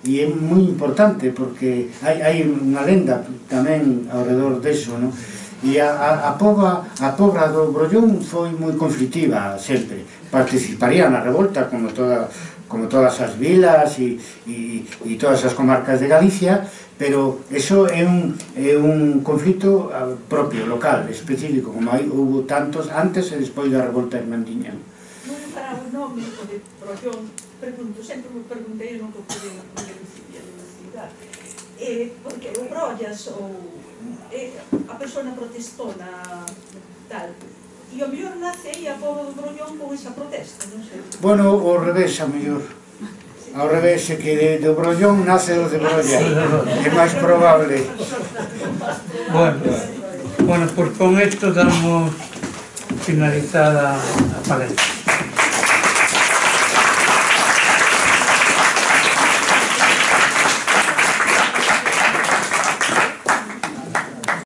e é moi importante porque hai unha lenda tamén ao redor deso, non? E a pobra do Brollón foi moi conflitiva sempre, participaría na revolta como todas as vilas e todas as comarcas de Galicia, pero eso é un conflito propio, local, específico, como houve tantos antes e despois da revolta irmandiña. Non é para o nome de Brollón, sempre me perguntei, non que pude elucidar, porque o brollas ou a persona protestona tal, e o mellor nace aí a pobo do Brollón con esa protesta, non sei. Bueno, ao revés, a mellor. Ao revés, é que do Brollón nace o de Brolla. É máis probable. Bueno, pues con esto damos finalizada a palestra.